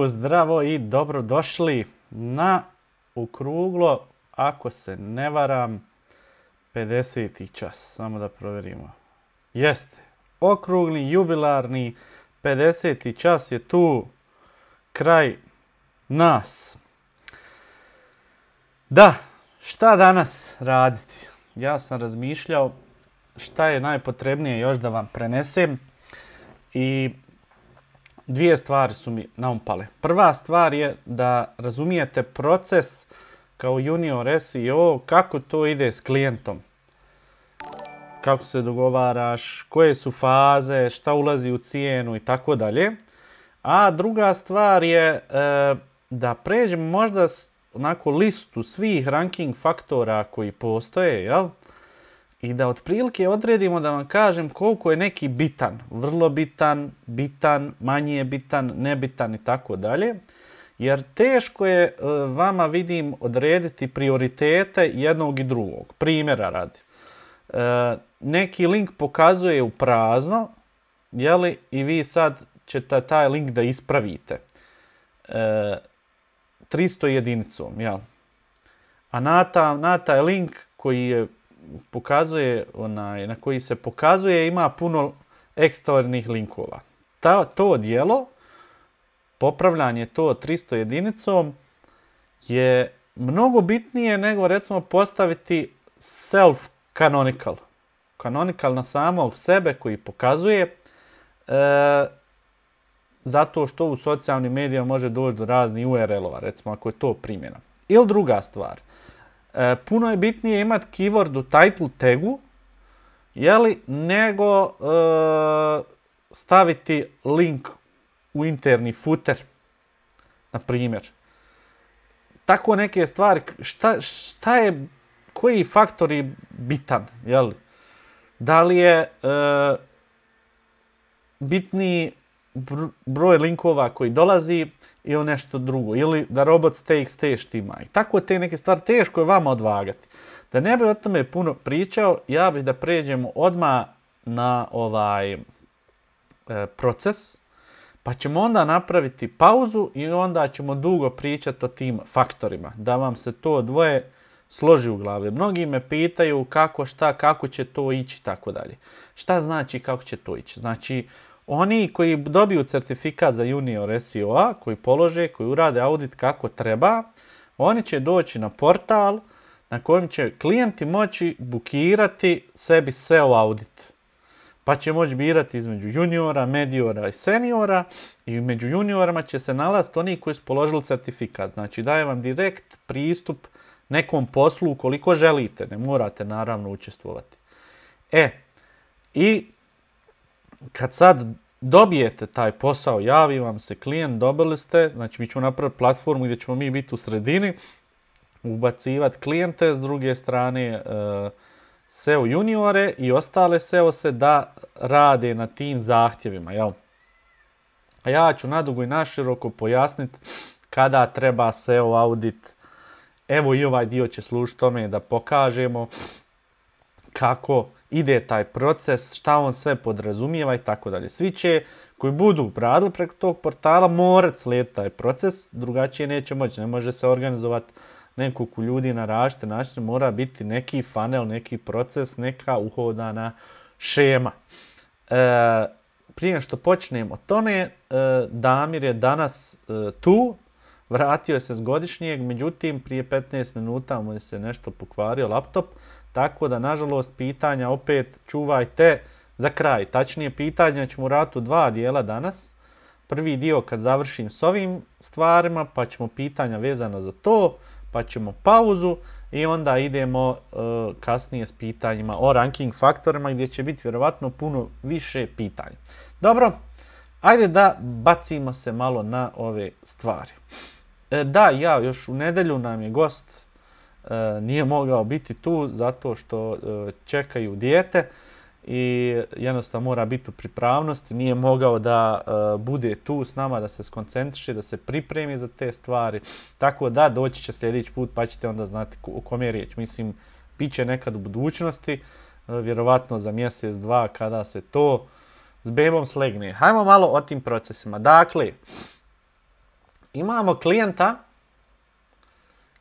Zdravo i dobrodošli na okruglo, ako se ne varam, 50. čas. Samo da provjerimo. Jeste, okrugli, jubilarni, 50. čas je tu kraj nas. Da, šta danas raditi? Ja sam razmišljao šta je najpotrebnije još da vam prenesem i dvije stvari su mi naumpale. Prva stvar je da razumijete proces kao junior SEO, kako to ide s klijentom. Kako se dogovaraš, koje su faze, šta ulazi u cijenu i tako dalje. A druga stvar je da pređemo možda onako listu svih ranking faktora koji postoje, jel? I da otprilike odredimo da vam kažem koliko je neki bitan, vrlo bitan, bitan, manje bitan, nebitan i tako dalje. Jer teško je vama, vidim, odrediti prioritete jednog i drugog. Primjera radi. Neki link pokazuje u prazno, jeli, i vi sad ćete taj link da ispravite 300 jedinicom, jel? A na taj link koji je pokazuje, na koji se pokazuje, ima puno eksternih linkova. To dijelo, popravljanje to 300 jedinicom, je mnogo bitnije nego recimo postaviti self-canonical. Canonical na samog sebe koji pokazuje, zato što u socijalnim medijama može doći do raznih URL-ova, recimo ako je to primjena. Ili druga stvar. Puno je bitnije imati keyword u title tagu, jeli, nego staviti link u interni footer, na primjer. Tako neke stvari, šta je, koji faktor je bitan, jeli? Da li je bitniji broj linkova koji dolazi ili nešto drugo, ili da robots.txt štima. I tako te neke stvari teško je vama odvagati. Da ne bi o tome puno pričao, ja bih da pređemo odmah na ovaj proces, pa ćemo onda napraviti pauzu i onda ćemo dugo pričati o tim faktorima, da vam se to dvoje složi u glavi. Mnogi me pitaju kako, šta, kako će to ići, tako dalje. Šta znači kako će to ići? Znači, oni koji dobiju certifikat za junior SEO-a, koji polože, koji urade audit kako treba, oni će doći na portal na kojem će klijenti moći bukirati sebi SEO audit. Pa će moći birati između juniora, mediora i seniora, i među juniorima će se nalaziti oni koji su položili certifikat. Znači daje vam direkt pristup nekom poslu ukoliko želite, ne morate naravno učestvovati. I kad sad dobijete taj posao, javi vam se klijent, dobili ste, znači mi ćemo napraviti platformu gdje ćemo mi biti u sredini, ubacivati klijente, s druge strane SEO juniore i ostale SEO se da rade na tim zahtjevima, jel? A ja ću nadugo i naširoko pojasniti kada treba SEO audit. Evo i ovaj dio će služiti tome da pokažemo kako ide taj proces, šta on sve podrazumijeva i tako dalje. Svi će koji budu radili preko tog portala morati slijediti taj proces, drugačije neće moći. Ne može se organizovati nekoliko ljudi na različite načine, mora biti neki funnel, neki proces, neka uhodana šema. Prije što počnemo o tome, Damir je danas tu, vratio se s godišnjeg, međutim prije 15 minuta mu je se nešto pokvario laptop, tako da nažalost pitanja opet čuvajte za kraj. Tačnije pitanja ćemo raditi u dva dijela danas. Prvi dio kad završim s ovim stvarima, pa ćemo pitanja vezana za to, pa ćemo pauzu i onda idemo kasnije s pitanjima o ranking faktorima gdje će biti vjerovatno puno više pitanja. Dobro, ajde da bacimo se malo na ove stvari. Da, još u nedjelju nam je gost, nije mogao biti tu zato što čekaju dijete i jednostavno mora biti u pripravnosti, nije mogao da bude tu s nama, da se skoncentriše, da se pripremi za te stvari. Tako da doći će sljedeći put pa ćete onda znati o kom je riječ. Mislim, bit će nekad u budućnosti, vjerovatno za mjesec, dva kada se to s bebom slegne. Hajmo malo o tim procesima. Dakle, imamo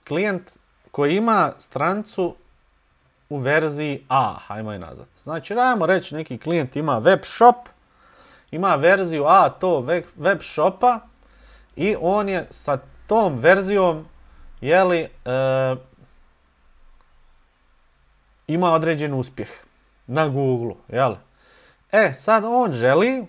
klijent koji ima stranicu u verziji A, hajmo je nazvat. Znači, dajmo reći neki klijent ima web shop, ima verziju A to web shopa i on je sa tom verzijom, ima određen uspjeh na Google, jel? Sad on želi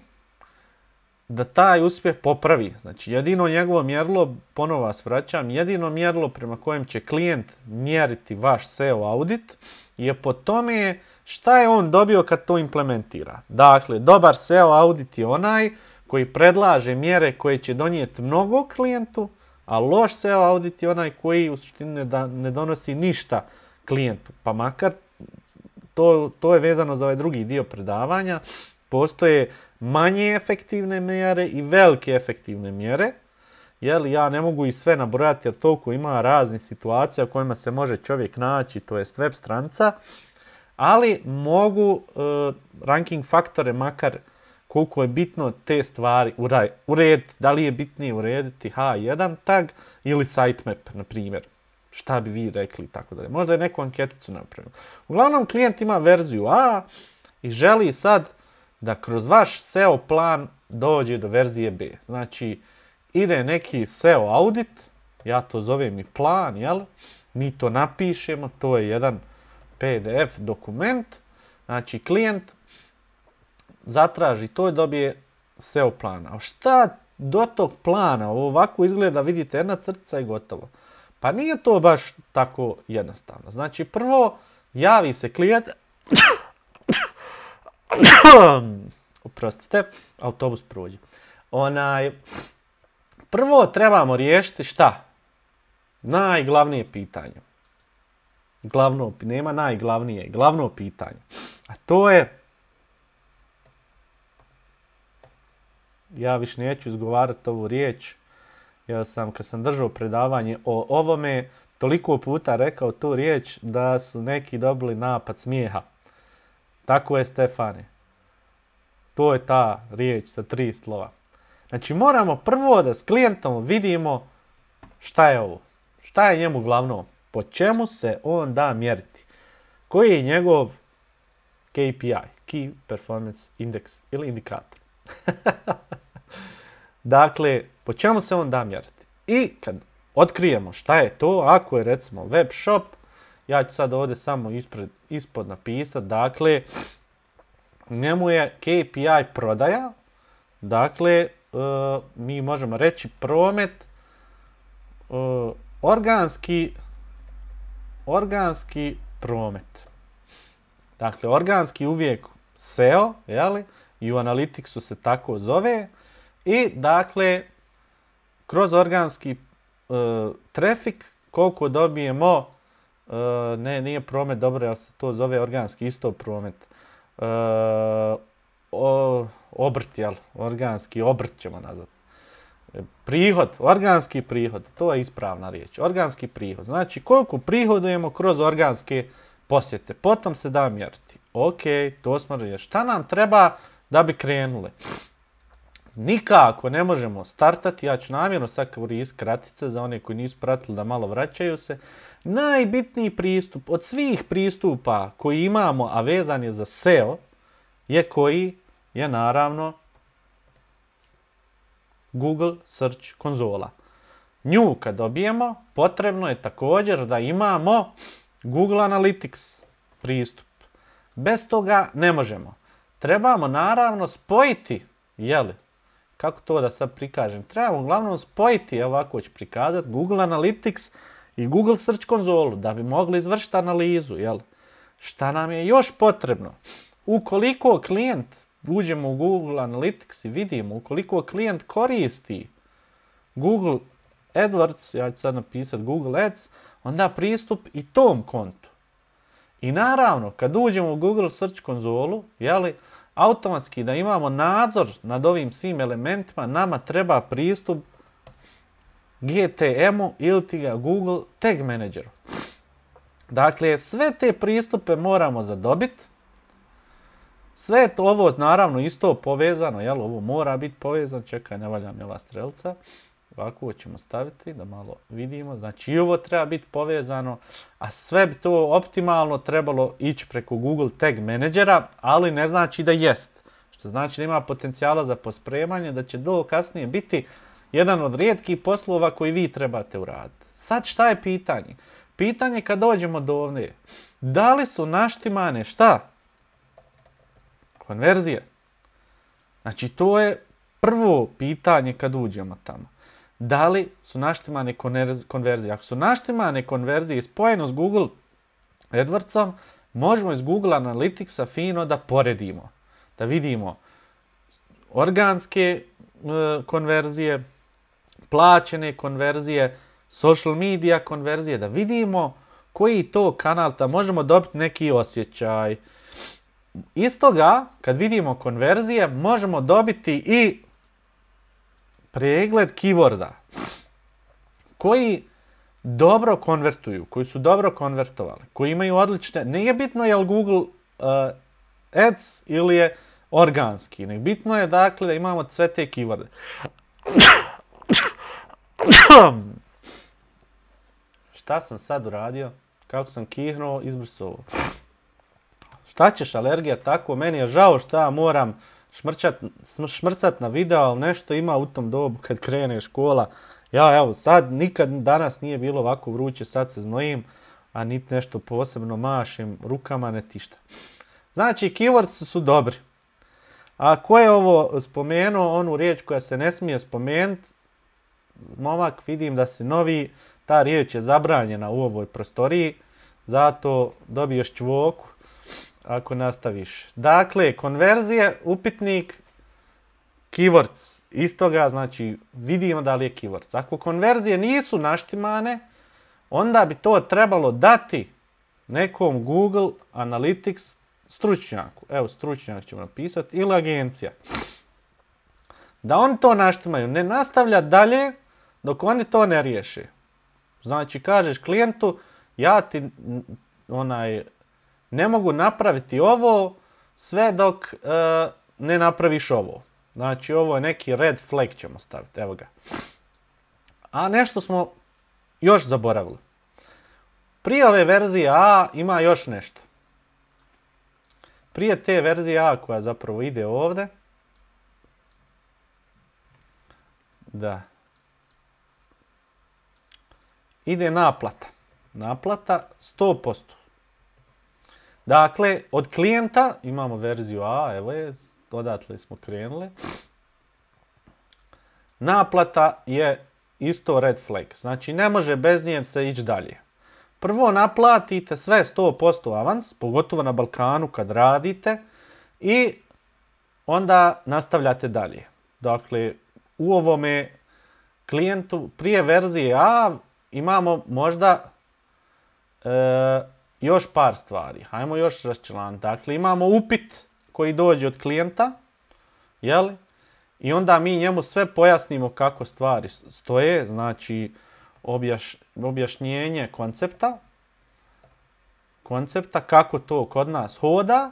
da taj uspjeh popravi. Znači, jedino njegovo mjerilo, ponovo vas vraćam, jedino mjerilo prema kojem će klijent mjeriti vaš SEO audit je po tome šta je on dobio kad to implementira. Dakle, dobar SEO audit je onaj koji predlaže mjere koje će donijeti mnogo klijentu, a loš SEO audit je onaj koji u suštini ne donosi ništa klijentu. Pa makar, to je vezano za ovaj drugi dio predavanja, postoje manje efektivne mjere i velike efektivne mjere. Ja ne mogu i sve nabrojati jer toliko ima raznih situacija u kojima se može čovjek naći, to jest web stranica, ali mogu ranking faktore makar koliko je bitno te stvari urediti. Da li je bitnije urediti H1 tag ili sitemap, na primjer. Šta bi vi rekli i tako dalje. Možda je neku anketicu napravio. Uglavnom, klijent ima verziju A i želi sad da kroz vaš SEO plan dođe do verzije B. Znači, ide neki SEO audit, ja to zovem i plan, jel? Mi to napišemo, to je jedan PDF dokument. Znači, klijent zatraži to i dobije SEO plan. A šta do tog plana, ovako izgleda, vidite, jedna crtica i gotovo. Pa nije to baš tako jednostavno. Znači, prvo javi se klijent, oprostite, autobus prođe. Prvo trebamo riješiti šta? Najglavnije pitanje. Nema najglavnije, glavno pitanje. A to je, ja više neću izgovarati ovu riječ, jer sam, kad sam držao predavanje o ovome, toliko puta rekao tu riječ da su neki dobili napad smijeha. Tako je, Stefane. To je ta riječ sa 3 slova. Znači, moramo prvo da s klijentom vidimo šta je ovo. Šta je njemu glavno? Po čemu se on da mjeriti? Koji je njegov KPI? Key Performance Index ili indikator. Dakle, po čemu se on da mjeriti? I kad otkrijemo šta je to, ako je recimo web shop, ja ću sad ovdje samo ispod napisati, dakle, njemu je KPI prodaja, dakle, mi možemo reći promet, organski promet. Dakle, organski uvijek SEO, jeli, i u Analyticsu se tako zove, i dakle, kroz organski trafik, koliko dobijemo, nije promet, dobro, jer se to zove organski, isto promet, obrt, jel, organski obrt ćemo nazvati. Prihod, organski prihod, to je ispravna riječ, organski prihod. Znači, koliko prihodujemo kroz organske posjete, potom se da mjeriti. Ok, to smo riješili. Šta nam treba da bi krenule? Nikako ne možemo startati, ja ću namjerno sad koristiti kratice za one koji nisu pratili da malo vraćaju se. Najbitniji pristup od svih pristupa koji imamo, a vezan je za SEO, je koji je naravno Google Search konzola. Nju kad dobijemo, potrebno je također da imamo Google Analytics pristup. Bez toga ne možemo. Trebamo naravno spojiti, jeli, kako to da sad prikažem, trebamo uglavnom spojiti, ovako ću prikazati, Google Analytics i Google Search konzolu da bi mogli izvršiti analizu, jel? Šta nam je još potrebno? Ukoliko klijent, uđemo u Google Analytics i vidimo, ukoliko klijent koristi Google AdWords, ja ću sad napisati Google Ads, onda pristup i tom kontu. I naravno, kad uđemo u Google Search konzolu, jeli, automatski da imamo nadzor nad ovim svim elementima, nama treba pristup GTM-u ili ti ga Google Tag Manageru. Dakle, sve te pristupe moramo zadobiti. Sve je ovo naravno isto povezano, jel? Ovo mora biti povezano, čekaj, ne valja mi ova strelca. Ovako ćemo staviti da malo vidimo. Znači i ovo treba biti povezano, a sve bi to optimalno trebalo ići preko Google Tag Managera, ali ne znači da jest. Što znači da ima potencijala za pospremanje, da će to kasnije biti jedan od rijetkih poslova koji vi trebate uraditi. Sad šta je pitanje? Pitanje kad dođemo do ovdje. Da li su naštimane šta? Konverzije. Znači to je prvo pitanje kad uđemo tamo. Da li su naštimane konverzije? Ako su naštimane konverzije spojeno s Google AdWordsom, možemo iz Google Analyticsa fino da poredimo. Da vidimo organske konverzije, plaćene konverzije, social media konverzije, da vidimo koji to kanal, da možemo dobiti neki osjećaj. Istoga, kad vidimo konverzije, možemo dobiti i pregled keyworda koji dobro konvertuju, koji su dobro konvertovali, koji imaju odlične, nije bitno je li Google Ads ili je organski, nek bitno je dakle da imamo sve te keyworde. Šta sam sad uradio? Kako sam kihnuo, izbrisao. Šta ćeš, alergija tako? Meni je žao što ja moram šmrcat na video, ali nešto ima u tom dobu kad krene škola. Ja evo, sad nikad danas nije bilo ovako vruće, sad se znojim, a niti nešto posebno mašim rukama, ne tišta. Znači, keywords su dobri. A ko je ovo spomenuo, onu riječ koja se ne smije spomenuti, momak, vidim da si novi, ta riječ je zabranjena u ovoj prostoriji, zato dobiješ čvoku ako nastaviš. Dakle, konverzije, upitnik, keywords. Istoga, znači, vidimo da li je keywords. Ako konverzije nisu naštimane, onda bi to trebalo dati nekom Google Analytics stručnjaku. Evo, stručnjak ćemo napisati, ili agencija. Da oni to naštimaju, ne nastavlja dalje dok oni to ne riješe. Znači, kažeš klijentu, ja ti ne mogu napraviti ovo sve dok ne napraviš ovo. Znači, ovo je neki red flag ćemo staviti, evo ga. A nešto smo još zaboravili. Prije ove verzije A ima još nešto. Prije te verzije A koja zapravo ide ovdje. Da. Ide naplata. Naplata 100%. Dakle, od klijenta imamo verziju A, evo je, odatle smo krenuli. Naplata je isto red flag. Znači, ne može bez nje se ići dalje. Prvo naplatite sve 100% avans, pogotovo na Balkanu kad radite, i onda nastavljate dalje. Dakle, u ovome klijentu prije verzije A imamo možda još par stvari. Hajmo još raščlaniti. Dakle, imamo upit koji dođe od klijenta, jel? I onda mi njemu sve pojasnimo kako stvari stoje, znači objašnjenje koncepta, kako to kod nas hoda,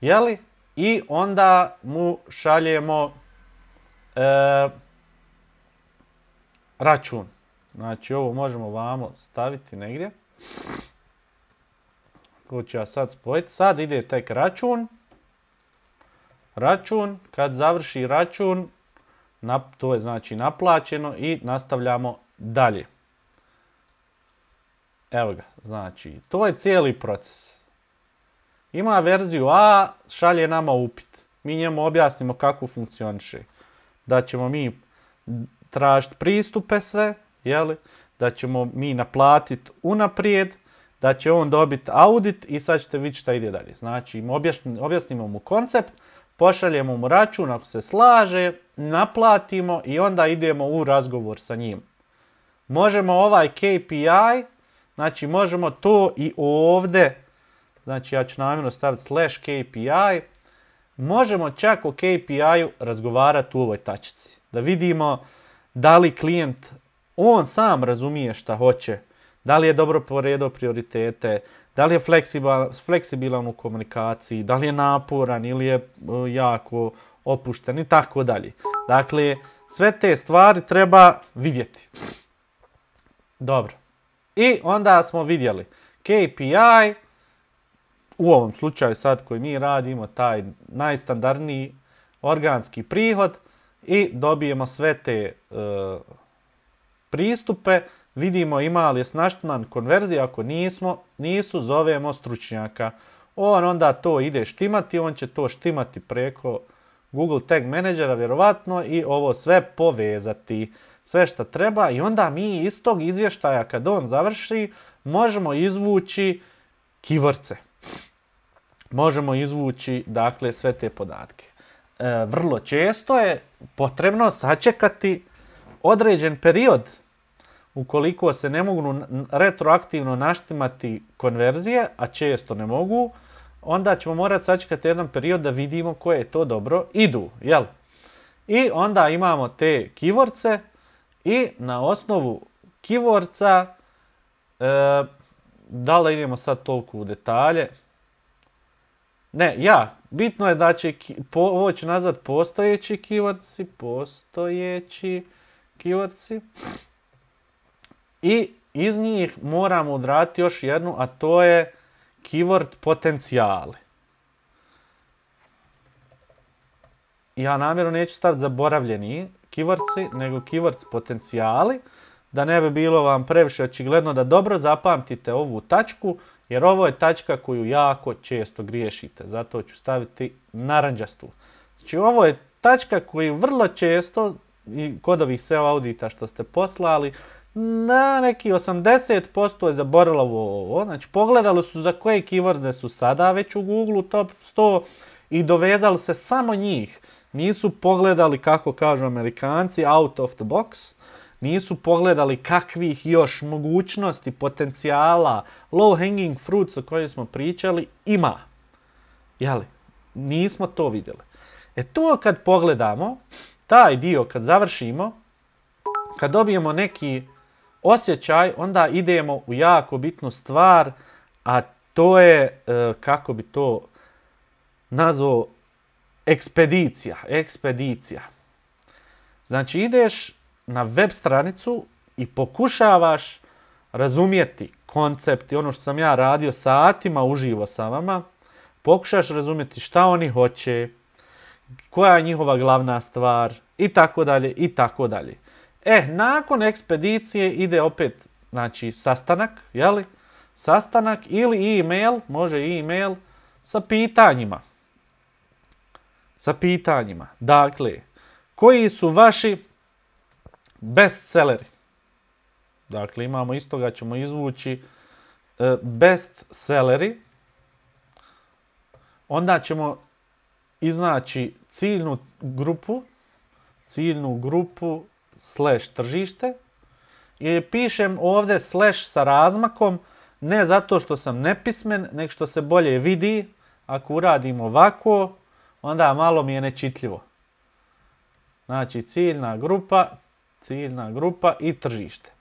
jel? I onda mu šaljemo račun. Znači, ovo možemo vamo staviti negdje. To ću ja sad spojiti. Sad ide tek račun. Račun, kad završi račun, to je znači naplaćeno i nastavljamo dalje. Evo ga, znači, to je cijeli proces. Ima verziju A, šalje nama upit. Mi njemu objasnimo kako funkcioniše. Da ćemo mi tražiti pristupe sve, jeli? Da ćemo mi naplatiti unaprijed, da će on dobiti audit i sad ćete vidjeti šta ide dalje. Znači, objasnimo mu koncept, pošaljemo mu račun ako se slaže, naplatimo i onda idemo u razgovor sa njim. Možemo ovaj KPI, znači možemo to i ovdje, znači ja ću namjerno staviti /KPI, možemo čak o KPI-u razgovarati u ovoj tačici. Da vidimo da li klijent, on sam razumije šta hoće, da li je dobro poredio prioritete, da li je fleksibilan u komunikaciji, da li je naporan ili je jako opušten i tako dalje. Dakle, Sve te stvari treba vidjeti. Dobro. I onda smo vidjeli KPI, u ovom slučaju sad koji mi radimo, taj najstandardniji organski prihod i dobijemo sve te pristupe, vidimo ima li je snaštan konverzija, ako nisu, zovemo stručnjaka. On onda to ide štimati, on će to štimati preko Google Tag Managera vjerovatno i ovo sve povezati, sve što treba i onda mi iz tog izvještaja kad on završi možemo izvući keywords. Možemo izvući dakle sve te podatke. Vrlo često je potrebno sačekati određen period ukoliko se ne mogu retroaktivno naštimati konverzije, a često ne mogu, onda ćemo morati sačekati jedan period da vidimo koje to dobro idu, jel? I onda imamo te keywords i na osnovu keywordsa, da li idemo sad toliko u detalje? Ne, bitno je da će, ovo ću nazvati postojeći keywordsi, i iz njih moramo odraditi još jednu, a to je keyword potencijali. Ja namjerno neću staviti zaboravljeni keywordsi, nego keywords potencijali, da ne bi bilo vam previše očigledno da dobro zapamtite ovu tačku, jer ovo je tačka koju jako često griješite. Zato ću staviti naranđastu. Znači ovo je tačka koju vrlo često, i kod ovih SEO audita što ste poslali, na neki 80% je zaboravilo ovo. Znači pogledali su za koje keyworde su sada već u Google top 100 i dovezali se samo njih. Nisu pogledali, kako kažu Amerikanci, out of the box. Nisu pogledali kakvih još mogućnosti, potencijala, low hanging fruits o kojoj smo pričali ima. Jeli? Nismo to vidjeli. To kad pogledamo, taj dio kad završimo, kad dobijemo neki osjećaj, onda idemo u jako bitnu stvar, a to je, kako bi to nazvao, ekspedicija. Znači ideš na web stranicu i pokušavaš razumjeti koncept i ono što sam ja radio satima uživo sa vama, pokušaš razumjeti šta oni hoće, koja je njihova glavna stvar i tako dalje i tako dalje. Nakon ekspedicije ide opet, znači, sastanak, jeli? Sastanak ili e-mail, može e-mail sa pitanjima. Dakle, koji su vaši bestselleri? Dakle, imamo iz toga ćemo izvući bestselleri. Onda ćemo iznaći ciljnu grupu / tržište. I pišem ovdje / sa razmakom, ne zato što sam nepismen, nego što se bolje vidi. Ako uradim ovako, onda malo mi je nečitljivo. Znači ciljna grupa i tržište.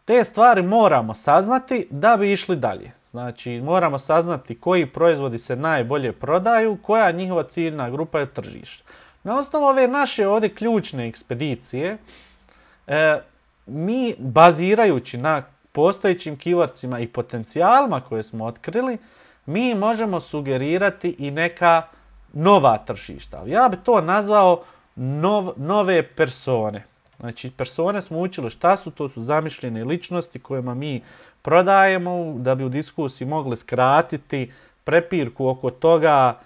Te stvari moramo saznati da bi išli dalje. Znači moramo saznati koji proizvodi se najbolje prodaju, koja je njihova ciljna grupa i tržište. Na osnovu ove naše ovdje ključne ekspedicije, mi bazirajući na postojećim keywordsima i potencijalima koje smo otkrili, mi možemo sugerirati i neka nova tržišta. Ja bi to nazvao nove persone. Znači persone smo učili šta su, to su zamišljene ličnosti kojima mi prodajemo, da bi u diskusiji mogli skratiti prepirku oko toga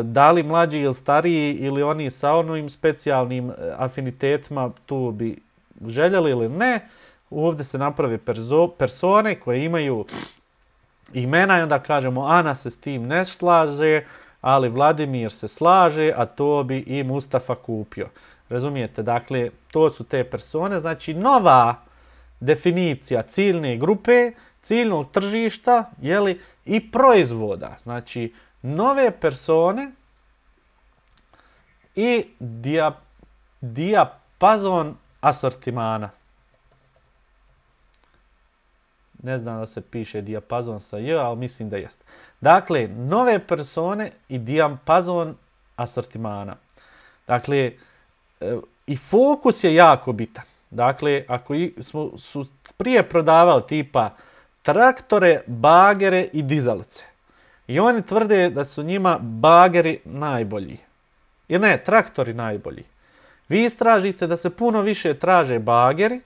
da li mlađi ili stariji ili oni sa onim specijalnim afinitetima tu bi željeli ili ne. Ovdje se naprave persone koje imaju imena i onda kažemo Ana se s tim ne slaže, ali Vladimir se slaže, a to bi i Mustafa kupio. Razumijete? Dakle, to su te persone. Znači, nova definicija ciljne grupe, ciljnog tržišta, jeli, i proizvoda. Znači, nove persone i dijapazon asortimana. Ne znam da se piše dijapazon sa j, ali mislim da jest. Dakle, nove persone i dijapazon asortimana. Dakle, I fokus je jako bitan. Dakle, ako su prije prodavali tipa traktore, bagere i dizalice. I oni tvrde da su njima bageri najbolji. Jer ne, traktori najbolji. Vi istražite da se puno više traže bageri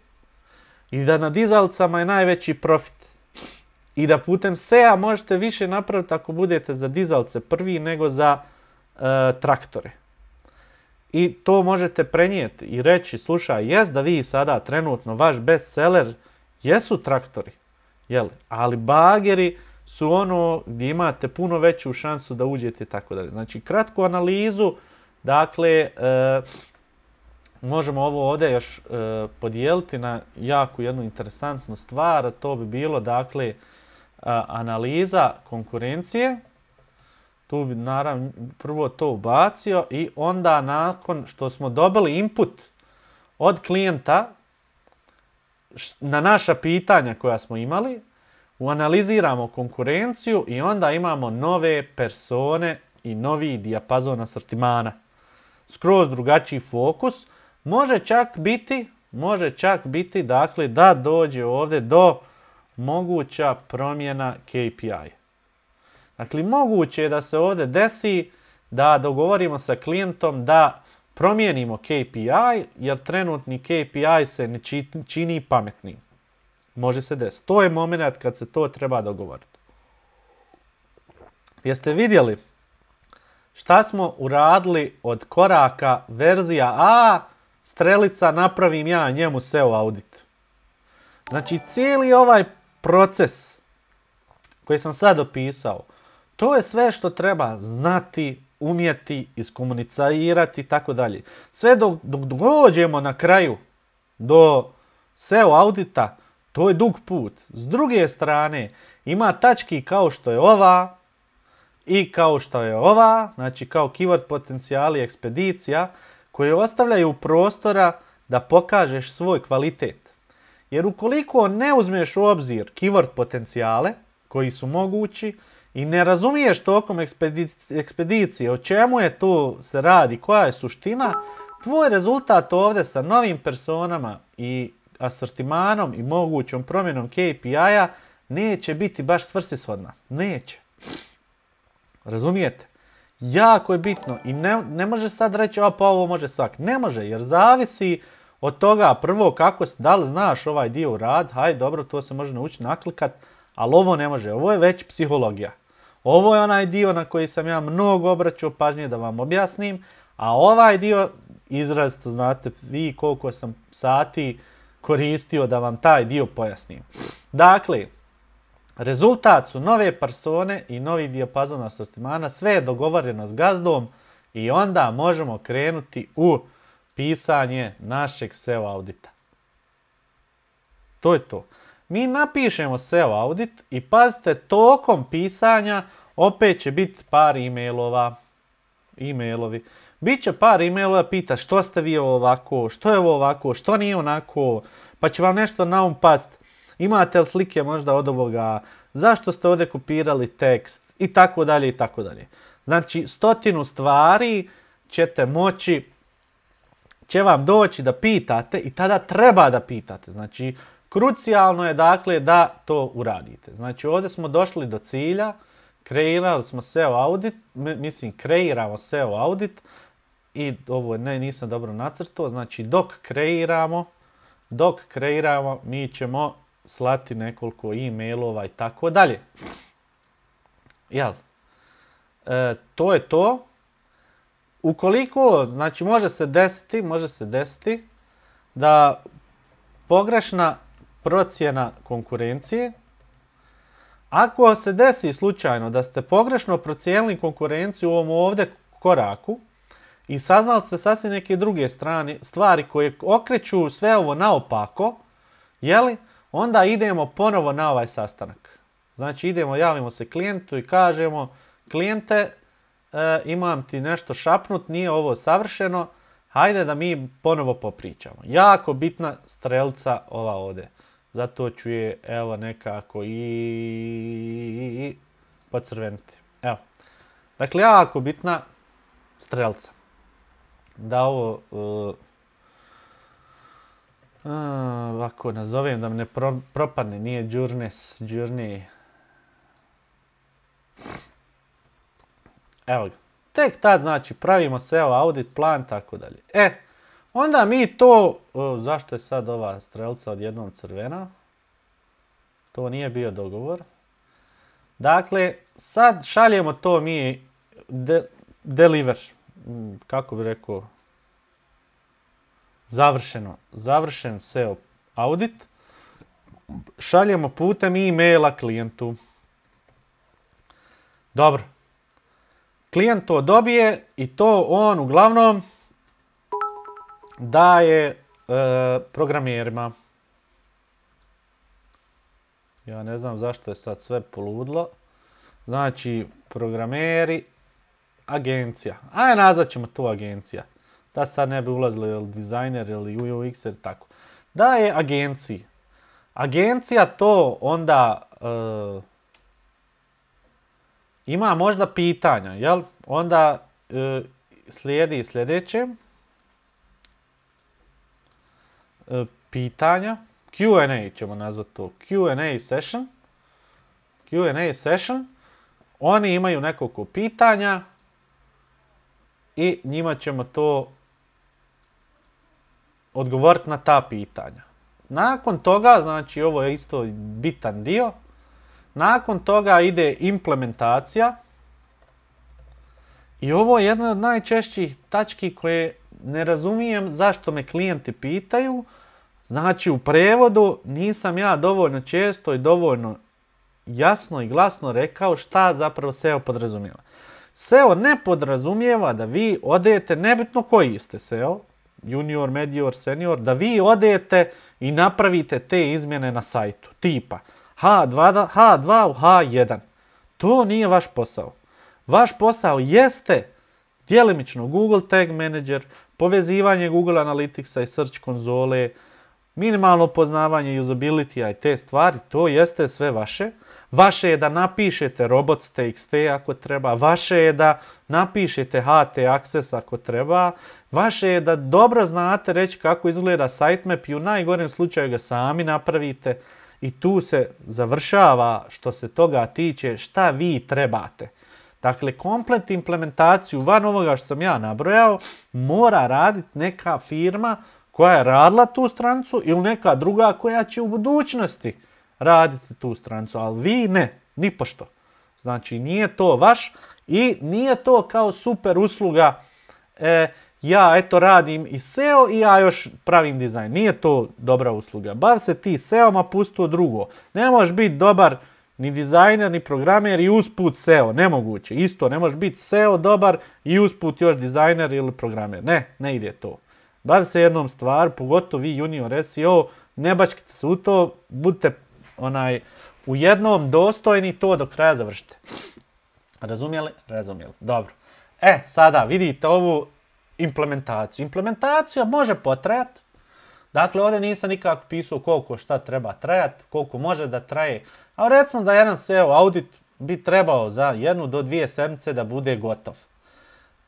i da na dizalicama je najveći profit. I da putem SEA možete više napraviti ako budete za dizalice prvi nego za traktore. I to možete prenijeti i reći, slušaj, jest da vi sada trenutno vaš bestseller jesu traktori, jel? Ali bageri su ono gdje imate puno veću šansu da uđete i tako dalje. Znači, kratku analizu, dakle, možemo ovo ovdje još podijeliti na jako jednu interesantnu stvar, to bi bilo, dakle, analiza konkurencije. Tu bi naravno prvo to ubacio i onda nakon što smo dobili input od klijenta na naša pitanja koja smo imali, analiziramo konkurenciju i onda imamo nove persone i novi dijapazon asortimana. Skroz drugačiji fokus. Može čak biti dakle, da dođe ovdje do moguća promjena KPI. Dakle, moguće je da se ovdje desi da dogovorimo sa klijentom da promijenimo KPI, jer trenutni KPI se ne čini pametnim. Može se desiti. To je moment kad se to treba dogovoriti. Jeste vidjeli šta smo uradili od koraka verzija A, strelica, napravim ja njemu SEO audit. Znači, cijeli ovaj proces koji sam sad opisao, to je sve što treba znati, umjeti, iskomunicirati i tako dalje. Sve dok dođemo na kraju do SEO audita, to je dug put. S druge strane, ima tački kao što je ova i kao što je ova, znači kao keyword potencijali ekspedicija, koje ostavljaju prostora da pokažeš svoj kvalitet. Jer ukoliko ne uzmeš u obzir keyword potencijale koji su mogući i ne razumiješ tokom ekspedicije o čemu je to se radi, koja je suština, tvoj rezultat ovdje sa novim personama i asortimanom i mogućom promjenom KPI-a neće biti baš svrsishodna. Neće. Razumijete? Jako je bitno i ne može sad reći pa ovo može svak. Ne može, jer zavisi od toga prvo da li znaš ovaj dio u rad, hajde dobro, to se može naučiti naklikat, ali ovo ne može, ovo je već psihologija. Ovo je onaj dio na koji sam ja mnogo obraćao pažnje da vam objasnim, a ovaj dio izrazito znate vi koliko sam sati koristio da vam taj dio pojasnim. Dakle, rezultat su nove persone i novi dijapazon asortimana, sve je dogovoreno s gazdom i onda možemo krenuti u pisanje našeg SEO audita. To je to. Mi napišemo SEO audit i pazite, tokom pisanja opet će biti par e-mailovi. Biće par e-mailova, pita što ste vi ovako, što je ovo ovako, što nije onako, pa će vam nešto na um past. Imate li slike možda od ovoga, zašto ste ovdje kopirali tekst i tako dalje i tako dalje. Znači 100 stvari će vam doći da pitate i tada treba da pitate. Znači krucijalno je dakle da to uradite. Znači ovdje smo došli do cilja, kreiramo SEO audit i ovo nisam dobro nacrtao, znači dok kreiramo mi ćemo slati nekoliko e-mailova i tako dalje. Jel? To je to. Ukoliko, znači može se desiti da pogrešna procjena konkurencije, ako se desi slučajno da ste pogrešno procijenili konkurenciju u ovom ovdje koraku i saznali ste sasvim neke druge stvari koje okreću sve ovo naopako, jeli, onda idemo ponovo na ovaj sastanak. Znači javimo se klijentu i kažemo, klijente, imam ti nešto šapnut, nije ovo savršeno, hajde da mi ponovo popričamo. Jako bitna strelca ova ovdje. Zato ću je evo nekako i pocrveniti. Evo. Dakle, jako bitna strelca. Da ovo Ovako nazovem da me ne propadne, nije Journey. Evo ga. Tek tad znači pravimo SEO audit plan, tako dalje. Onda mi to, zašto je sad ova strelca odjednom crvena? To nije bio dogovor. Dakle, sad šaljemo to mi deliver, kako bi rekao, završen SEO audit. Šaljemo putem e-maila klijentu. Dobro. Klijent to dobije i to on uglavnom daje programerima. Ja ne znam zašto je sad sve poludlo. Znači, programeri, agencija. Ajde, nazvat ćemo to agencija. Da sad ne bi ulazili ili dizajner ili UX ili tako. Daje agenciji. Agencija to onda ima možda pitanja, jel? Onda slijedi sljedeće. Pitanja. Q&A ćemo nazvati to. Q&A session. Oni imaju nekoliko pitanja i njima ćemo to odgovoriti na ta pitanja. Nakon toga, znači ovo je isto bitan dio, nakon toga ide implementacija i ovo je jedna od najčešćih tački koje ne razumijem zašto me klijenti pitaju. Znači u prevodu nisam ja dovoljno često i dovoljno jasno i glasno rekao šta zapravo SEO podrazumijeva. SEO ne podrazumijeva da vi odete, nebitno koji ste SEO, junior, medior, senior, da vi odete i napravite te izmjene na sajtu, tipa H2 u H1. To nije vaš posao. Vaš posao jeste djelimično Google Tag Manager, povezivanje Google Analyticsa i Search konzole, minimalno poznavanje usability-a i te stvari, to jeste sve vaše. Vaše je da napišete robots.txt ako treba, vaše je da napišete HT access ako treba, vaše je da dobro znate reći kako izgleda sitemap i u najgorem slučaju ga sami napravite i tu se završava što se toga tiče šta vi trebate. Dakle, komplet implementaciju van ovoga što sam ja nabrojao mora raditi neka firma koja je radila tu stranicu ili neka druga koja će u budućnosti raditi tu stranicu, ali vi ne, nipošto. Znači, nije to vaš i nije to kao super usluga, ja eto radim i SEO i ja još pravim dizajn. Nije to dobra usluga. Bav se ti SEO-ma, pusti to drugo. Ne možeš biti dobar ni dizajner, ni programer i usput SEO. Nemoguće. Isto, ne možeš biti SEO dobar i usput još dizajner ili programer. Ne ide to. Bav se jednom stvar, pogotovo vi junior SEO, ne bačkite se u to, budite u jednom dostojni, to do kraja završite. Razumjeli? Razumjeli. Dobro. Sada vidite ovu implementaciju. Implementacija može potrajati. Dakle, ovdje nisam nikako pisao koliko šta treba trajati, koliko može da traje. A recimo da jedan SEO audit bi trebao za 1 do 2 sedmice da bude gotov.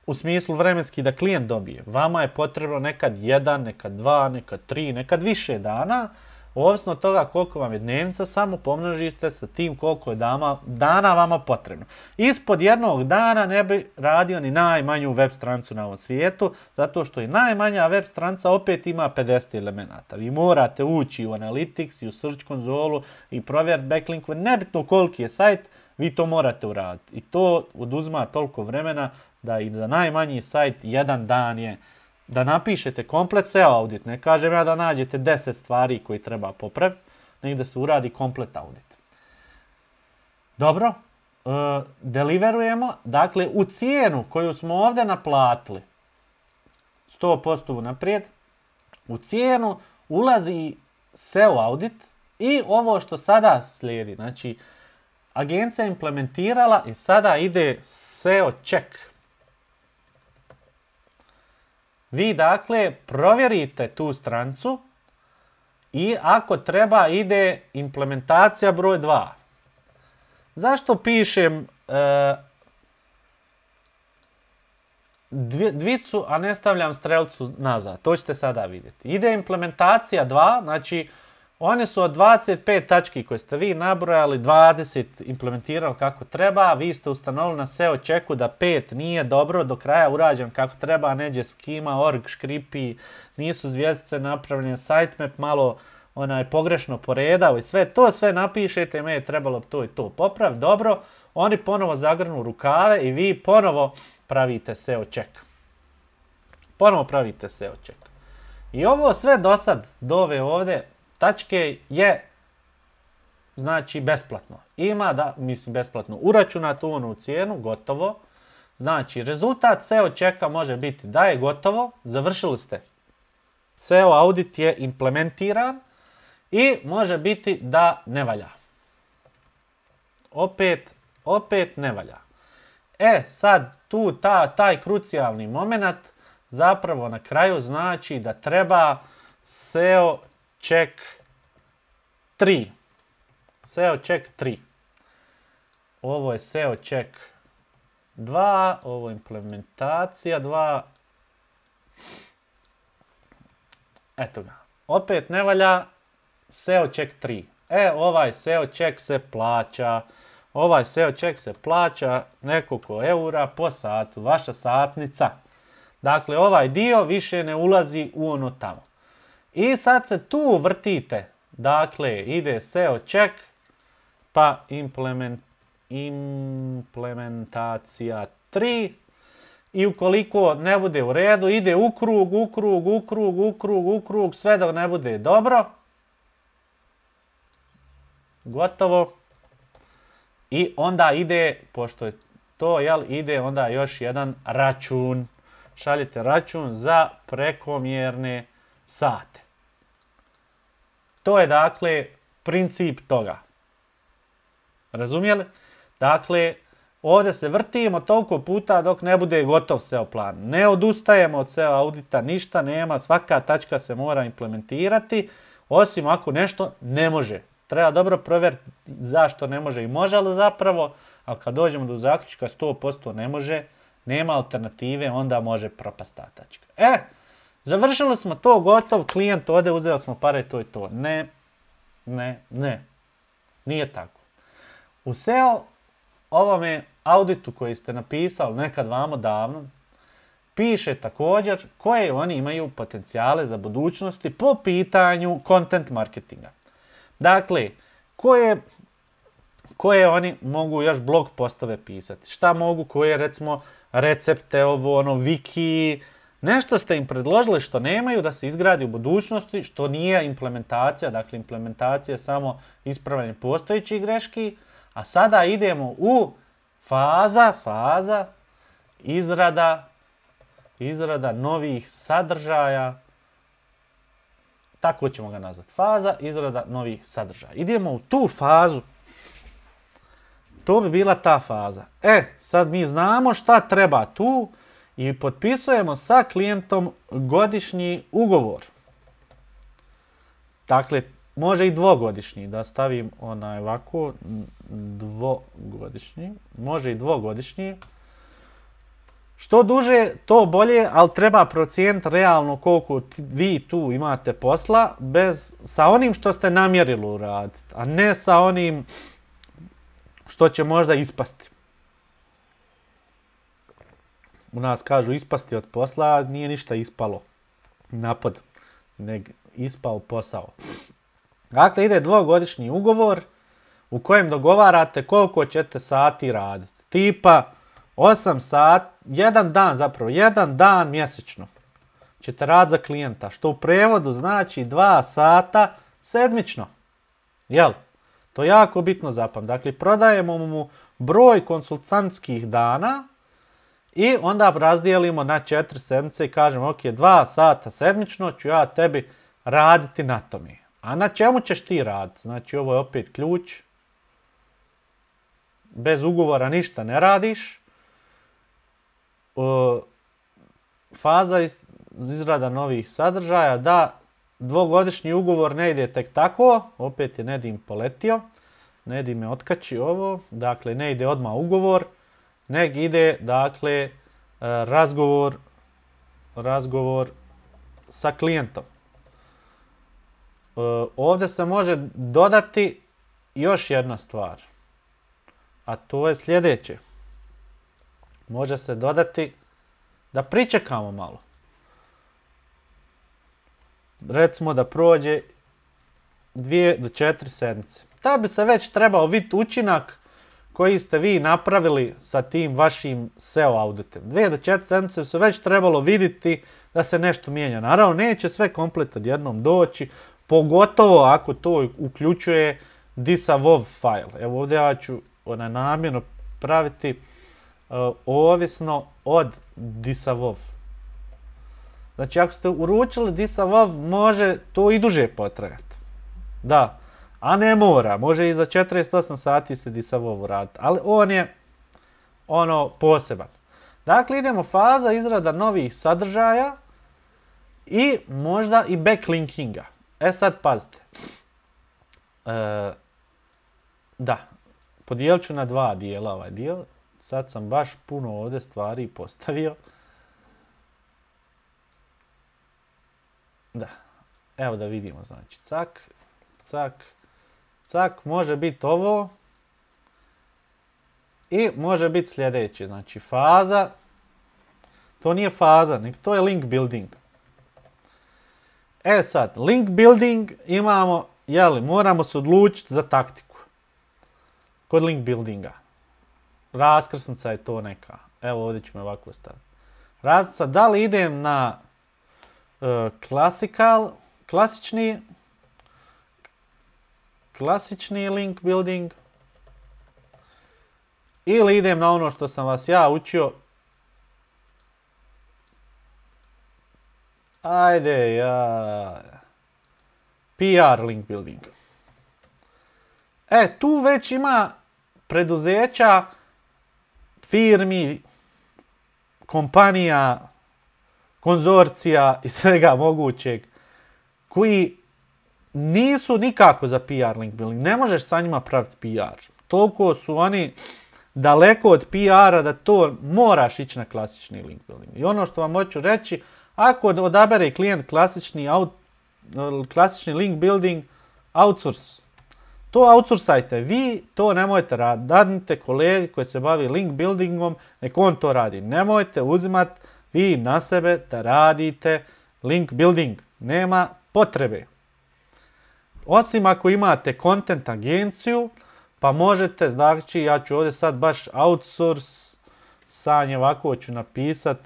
U smislu vremenski da klijent dobije. Vama je potrebno nekad 1, nekad 2, nekad 3, nekad više dana. Ovisno od toga koliko vam je dnevnica, samo pomnožite sa tim koliko je dana vama potrebno. Ispod jednog dana ne bi radio ni najmanju web stranicu na ovom svijetu, zato što i najmanja web stranica opet ima 50 elemenata. Vi morate ući u Analytics i u Search konzolu i provjeriti backlinkove, nebitno koliki je sajt, vi to morate uraditi. I to oduzima toliko vremena da i za najmanji sajt jedan dan je da napišete komplet SEO audit. Ne kažem ja da nađete 10 stvari koje treba popraviti, nego da se uradi komplet audit. Dobro, deliverujemo. Dakle, u cijenu koju smo ovdje naplatili, 100% unaprijed, u cijenu ulazi SEO audit i ovo što sada slijedi. Znači, agencija je implementirala i sada ide SEO check. Vi dakle provjerite tu stranicu i ako treba ide implementacija broj 2. Zašto pišem dvicu, a ne stavljam strelcu nazad. To ćete sada vidjeti. Ide implementacija 2, znači one su od 25 tački koje ste vi nabrojali, 20 implementirali kako treba, vi ste ustanovili na SEO checku da 5 nije dobro do kraja urađen kako treba, neđe skima, org, škripi, nisu zvjezdice napravljene, sitemap malo pogrešno poredao i sve napišete, me je trebalo to i to popraviti, dobro, oni ponovo zagrnu rukave i vi ponovo pravite SEO check. I ovo sve do sad, do ove ovdje tačke je, znači, besplatno. Besplatno, uračunato u cijenu, gotovo. Znači, rezultat SEO checka može biti da je gotovo, završili ste. SEO audit je implementiran i može biti da ne valja. Opet ne valja. Sad tu taj krucijalni moment zapravo na kraju znači da treba SEO check 3. SEO check 3. Ovo je SEO check 2, ovo je implementacija 2. Eto ga. Opet ne valja SEO check 3. Ovaj SEO check se plaća. Ovaj SEO check se plaća nekoliko eura po satu, vaša satnica. Dakle, ovaj dio više ne ulazi u ono tamo. I sad se tu vrtite. Dakle, ide SEO check, pa implementacija 3. I ukoliko ne bude u redu, ide u krug, sve dok ne bude dobro. Gotovo. I onda ide, pošto je to, ide onda još jedan račun. Šaljete račun za prekomjerne sate. To je dakle princip toga. Razumijeli? Dakle, ovdje se vrtimo toliko puta dok ne bude gotov SEO plan. Ne odustajemo od SEO audita, ništa nema, svaka tačka se mora implementirati, osim ako nešto ne može. Treba dobro provjeriti zašto ne može i može li zapravo, ali kad dođemo do zaključka 100% ne može, nema alternative, onda može propast ta tačka. Završili smo to, gotov, klijent ode, uzeli smo pare, to je to. Ne. Nije tako. U SEO ovome auditu koji ste napisali nekad vamo davno, piše također koje oni imaju potencijale za budućnosti po pitanju content marketinga. Dakle, koje oni mogu još blog postove pisati, šta mogu, koje recimo recepte, wiki, nešto ste im predložili što nemaju da se izgradi u budućnosti, što nije implementacija, dakle implementacija je samo ispravljanje postojećih greški, a sada idemo u faza izrada novih sadržaja, tako ćemo ga nazvati, faza izrada novih sadržaja. Idemo u tu fazu, to bi bila ta faza. Sad mi znamo šta treba tu i potpisujemo sa klijentom godišnji ugovor. Dakle, može i dvogodišnji, da stavim ovako, dvogodišnji, može i dvogodišnji. Što duže, to bolje, ali treba procijeniti realno koliko vi tu imate posla sa onim što ste namjerili uraditi, a ne sa onim što će možda ispasti. U nas kažu ispasti od posla, nije ništa ispalo napad, nego ispao posao. Dakle, ide dvogodišnji ugovor u kojem dogovarate koliko ćete sati raditi. Tipa 8 sati, jedan dan mjesečno ćete raditi za klijenta, što u prevodu znači 2 sata sedmično. Jel? To je jako bitno zapamtiti. Dakle, prodajemo mu broj konsultantskih dana i onda razdijelimo na 4 sedmice i kažemo, ok, 2 sata sedmično ću ja tebi raditi na tome. A na čemu ćeš ti raditi? Znači, ovo je opet ključ. Bez ugovora ništa ne radiš. Faza izrada novih sadržaja, da dvogodišnji ugovor ne ide tek tako, opet je Nedim poletio, Nedim me otkači ovo, dakle ne ide odmah ugovor, nego ide, dakle, razgovor sa klijentom. Ovdje se može dodati još jedna stvar, a to je sljedeće. Može se dodati da pričekamo malo. Recimo da prođe 2 do 4 sedmice. Da bi se već trebao vidjeti učinak koji ste vi napravili sa tim vašim SEO auditem. 2 do 4 sedmice su već trebalo vidjeti da se nešto mijenja. Naravno, neće sve komplet odjednom doći, pogotovo ako to uključuje disavov file. Evo ovdje ja ću namjerno praviti ovisno od disavov. Znači, ako ste uručili disavov, može to i duže potrajati. Da, a ne mora. Može i za 48 sati se disavov uraditi, ali on je poseban. Dakle, idemo faza izrada novih sadržaja i možda i backlinkinga. Sad pazite. Da, podijelit ću na 2 dijela ovaj dio. Sad sam baš puno ovdje stvari postavio. Da, evo da vidimo, znači, cak, cak, cak, može biti ovo i može biti sljedeće, znači faza, to nije faza, nego to je link building. Sad, link building imamo, moramo se odlučiti za taktiku kod link buildinga. Raskrsnica je to neka, evo ovdje ću me ovako staviti. Raskrsnica, da li idem na klasični link building ili idem na ono što sam vas ja učio. PR link building. Tu već ima preduzeća, firmi, kompanija, konzorcija i svega mogućeg koji nisu nikako za PR link building. Ne možeš sa njima praviti PR. Toliko su oni daleko od PR-a da to moraš ići na klasični link building. I ono što vam hoću reći, ako odabere klijent klasični link building, outsource. To outsourcajte vi, to nemojte raditi. Dadnite kolegi koji se bavi link buildingom, nek on to radi. Nemojte uzimati vi na sebe da radite link building. Nema potrebe. Osim ako imate content agenciju, pa možete, znači ja ću ovdje sad baš outsource, sanje ovako ću napisat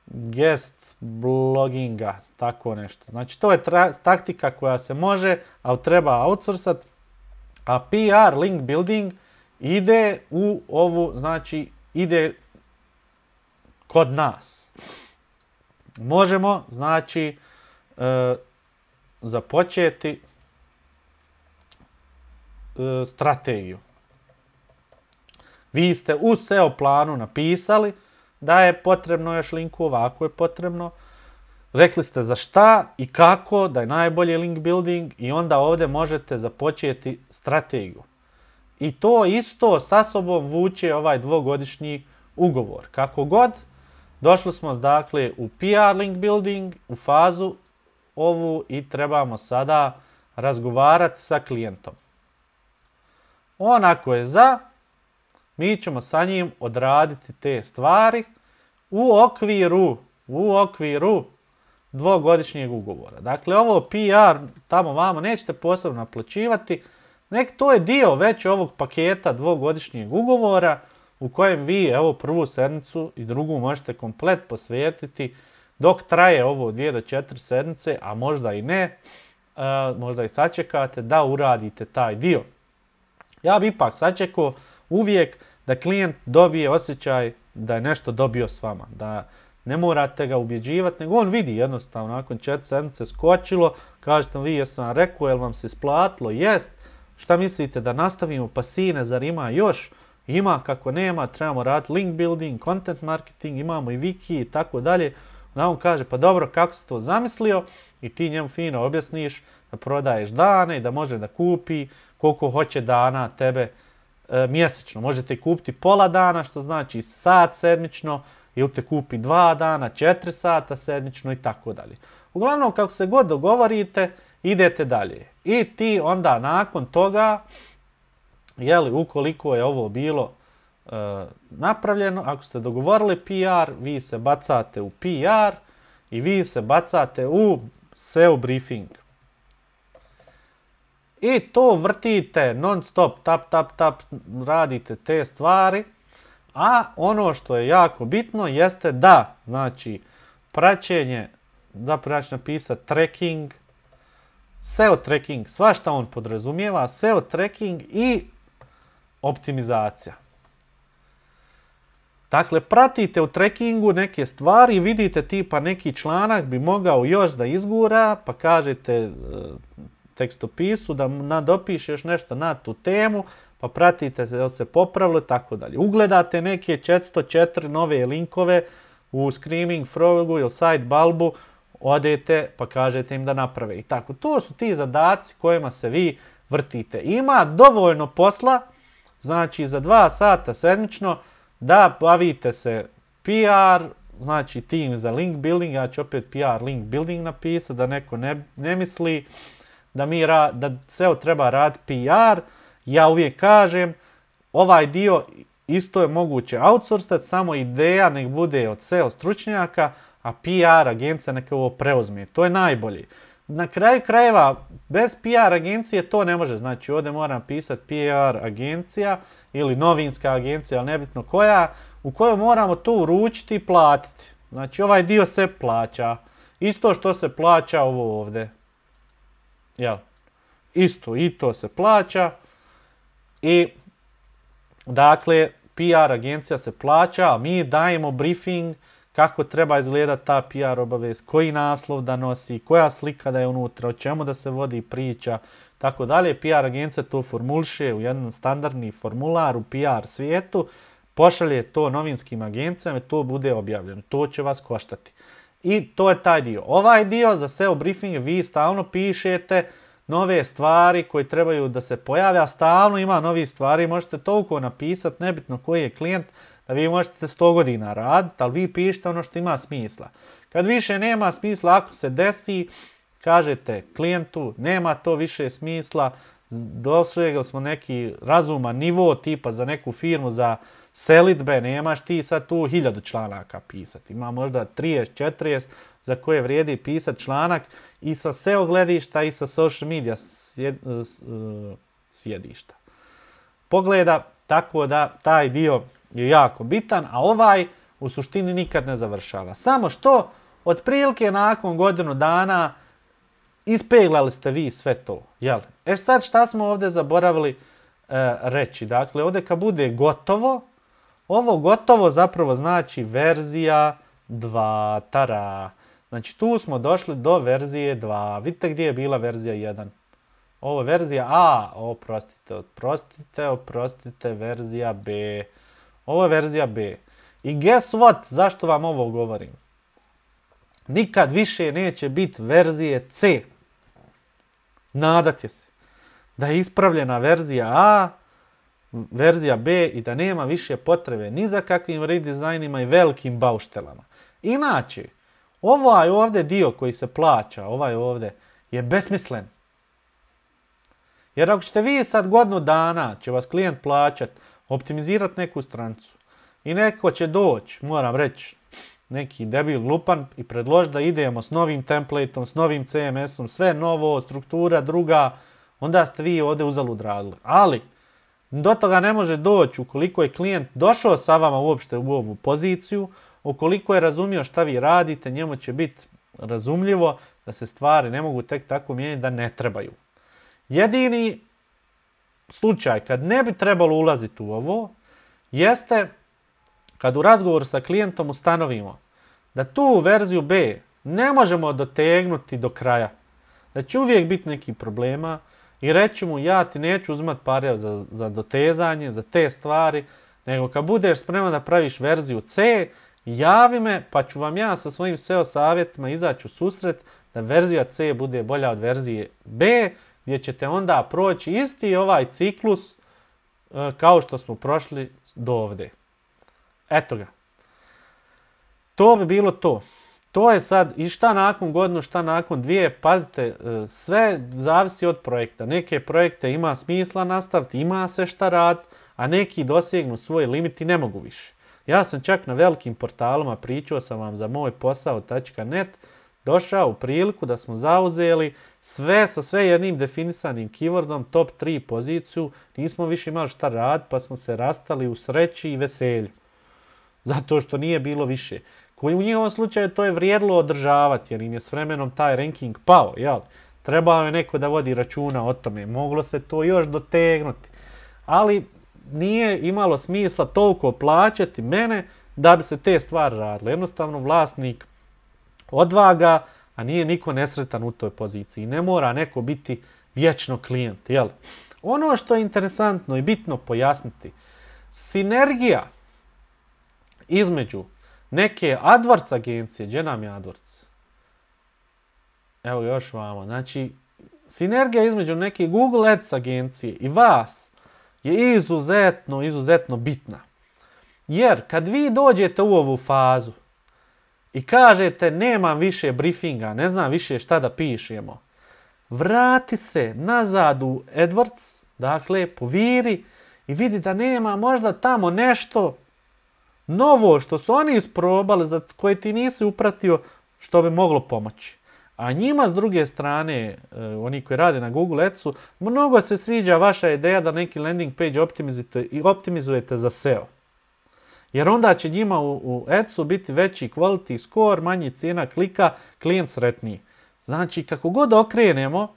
guest bloginga, tako nešto. Znači to je taktika koja se može, ali treba outsourcat, a PR link building ide u ovu, znači ide kod nas. Možemo, znači, započeti strategiju. Vi ste u SEO planu napisali da je potrebno još linku, ovako je potrebno. Rekli ste za šta i kako da je najbolji link building i onda ovdje možete započeti strategiju. I to isto sa sobom vuče ovaj 2-godišnji ugovor. Kako god, došli smo dakle u PR link building, u fazu ovu i trebamo sada razgovarati sa klijentom. On ako je za, mi ćemo sa njim odraditi te stvari u okviru 2-godišnjeg ugovora. Dakle, ovo PR tamo vamo nećete posebno naplaćivati, nek to je dio već ovog paketa 2-godišnjeg ugovora u kojem vi evo prvu sedmicu i drugu možete komplet posvetiti dok traje ovo 2 do 4 sedmice, a možda i ne, možda i sačekate da uradite taj dio. Ja bi ipak sačekao uvijek da klijent dobije osjećaj da je nešto dobio s vama, da ne morate ga ubjeđivati, nego on vidi jednostavno, nakon 4 sedmice skočilo, kažete vi jesam rekao, jel vam se isplatilo, jest, šta mislite da nastavimo, pa sine, zar ima još? Ima, kako nema, trebamo raditi link building, content marketing, imamo i wiki i tako dalje. Onda on kaže, pa dobro, kako si to zamislio? I ti njemu fino objasniš da prodaješ dane i da može da kupi koliko hoće dana tebe mjesečno. Možete kupiti pola dana, što znači sat sedmično, ili te kupi 2 dana, 4 sata sedmično i tako dalje. Uglavnom, kako se god dogovorite, idete dalje. I ti onda nakon toga, ukoliko je ovo bilo napravljeno, ako ste dogovorili PR, vi se bacate u PR i vi se bacate u SEO briefing. I to vrtite non stop, tap, radite te stvari, a ono što je jako bitno jeste da, znači, praćenje, zapravo ja ću napisati tracking, SEO tracking, svašta on podrazumijeva, SEO tracking i optimizacija. Dakle, pratite u trackingu neke stvari, vidite tipa neki članak bi mogao još da izgura, pa kažete tekstopisu da nadopišeš nešto na tu temu, pa pratite se da se popravilo i tako dalje. Ugledate neke 404 nove linkove u Screaming Frogu ili Sitebulbu, odete pa kažete im da naprave. I tako, to su ti zadaci kojima se vi vrtite. Ima dovoljno posla, znači za 2 sata sedmično, da bavite se PR, znači tim za link building, ja ću opet PR link building napisati, da neko ne misli da SEO treba raditi PR. Ja uvijek kažem, ovaj dio isto je moguće outsourcati, samo ideja nek bude od SEO stručnjaka, a PR agencija neka ovo preuzme. To je najbolje. Na kraju krajeva, bez PR agencije to ne može. Znači ovdje moram pisati PR agencija ili novinska agencija, ali nebitno koja, u kojoj moramo to uručiti i platiti. Znači ovaj dio se plaća. Isto što se plaća ovo ovdje. Jel? Isto i to se plaća. I dakle, PR agencija se plaća, a mi dajemo briefing kako treba izgledati ta PR obavijest, koji naslov da nosi, koja slika da je unutra, o čemu da se vodi priča, tako dalje. PR agencija to formuliše u jedan standardni formular u PR svijetu, pošalje to novinskim agencijama i to bude objavljeno. To će vas koštati. I to je taj dio. Ovaj dio za SEO briefing vi stalno pišete nove stvari koje trebaju da se pojave, a stalno ima novih stvari. Možete toliko napisati, nebitno koji je klijent, da vi možete 100 godina raditi, ali vi pišete ono što ima smisla. Kad više nema smisla, ako se desi, kažete klijentu, nema to više smisla, dosegli smo neki razuman nivo, tipa za neku firmu za selidbe, nemaš ti sad tu 1000 članaka pisati. Ima možda 30-40 za koje vrijedi pisati članak i sa SEO gledišta i sa social media sjedišta. Pogleda, tako da taj dio je jako bitan, a ovaj u suštini nikad ne završava. Samo što, otprilike nakon godinu dana ispeglali ste vi sve to. Jel? Sad šta smo ovdje zaboravili reći? Dakle, ovdje kad bude gotovo, ovo gotovo zapravo znači verzija 2. Tara. Znači tu smo došli do verzije 2. Vidite gdje je bila verzija 1. Ovo je verzija A. Oprostite, verzija B. Ovo je verzija B. I guess what? Zašto vam ovo govorim? Nikad više neće biti verzije C. Nadate se da je ispravljena verzija A, verzija B i da nema više potrebe ni za kakvim redizajnima i velikim bauštelama. Inače, ovaj ovdje dio koji se plaća, ovaj ovdje, je besmislen. Jer ako ćete vi sad godinu dana, će vas klijent plaćat, optimizirati neku stranicu i neko će doći, moram reći, neki debil lupan i predložiti da idemo s novim templateom, s novim CMS-om, sve novo, struktura druga, onda ste vi ovdje uzalud radili. Ali, do toga ne može doći ukoliko je klijent došao sa vama uopšte u ovu poziciju, ukoliko je razumio šta vi radite, njemu će biti razumljivo da se stvari ne mogu tek tako mijenjati, da ne trebaju. Jedini slučaj kad ne bi trebalo ulaziti u ovo, jeste kad u razgovoru sa klijentom ustanovimo da tu verziju B ne možemo dotegnuti do kraja, da će uvijek biti neki problema i reći mu ja ti neću uzimati pare za dotezanje, za te stvari, nego kad budeš spreman da praviš verziju C, javi me pa ću vam ja sa svojim SEO savjetima izaći u susret da verzija C bude bolja od verzije B, gdje ćete onda proći isti ovaj ciklus kao što smo prošli do ovdje. Eto ga. To bi bilo to. To je sad i šta nakon godinu, šta nakon dvije, pazite, sve zavisi od projekta. Neke projekte ima smisla nastaviti, ima se šta raditi, a neki dosegnu svoj limit i ne mogu više. Ja sam čak na velikim portalima, pričao sam vam za moj posao.net, došao u priliku da smo zauzeli sve sa sve jednim definisanim keywordom, top 3 poziciju, nismo više imali šta raditi, pa smo se rastali u sreći i veselju. Zato što nije bilo više. Koji u njihovom slučaju to je vrijedilo održavati, jer im je s vremenom taj ranking pao, jel? Trebao je neko da vodi računa o tome, moglo se to još dotegnuti. Ali nije imalo smisla toliko plaćati mene da bi se te stvari radile. Jednostavno vlasnik odvaga, a nije niko nesretan u toj poziciji. Ne mora neko biti vječno klijent, jel? Ono što je interesantno i bitno pojasniti, sinergija između neke AdWords agencije, gdje nam je AdWords? Evo još vamo. Znači, sinergija između neke Google Ads agencije i vas je izuzetno bitna. Jer kad vi dođete u ovu fazu i kažete nemam više briefinga, ne znam više šta da pišemo, vrati se nazad u AdWords, dakle, poviri i vidi da nema možda tamo nešto novo što su oni isprobali, za koje ti nisi upratio, što bi moglo pomoći. A njima s druge strane, oni koji rade na Google Adsu, mnogo se sviđa vaša ideja da neki landing page optimizujete za SEO. Jer onda će njima u Adsu biti veći quality score, manji cijena klika, klijent sretniji. Znači, kako god okrenemo,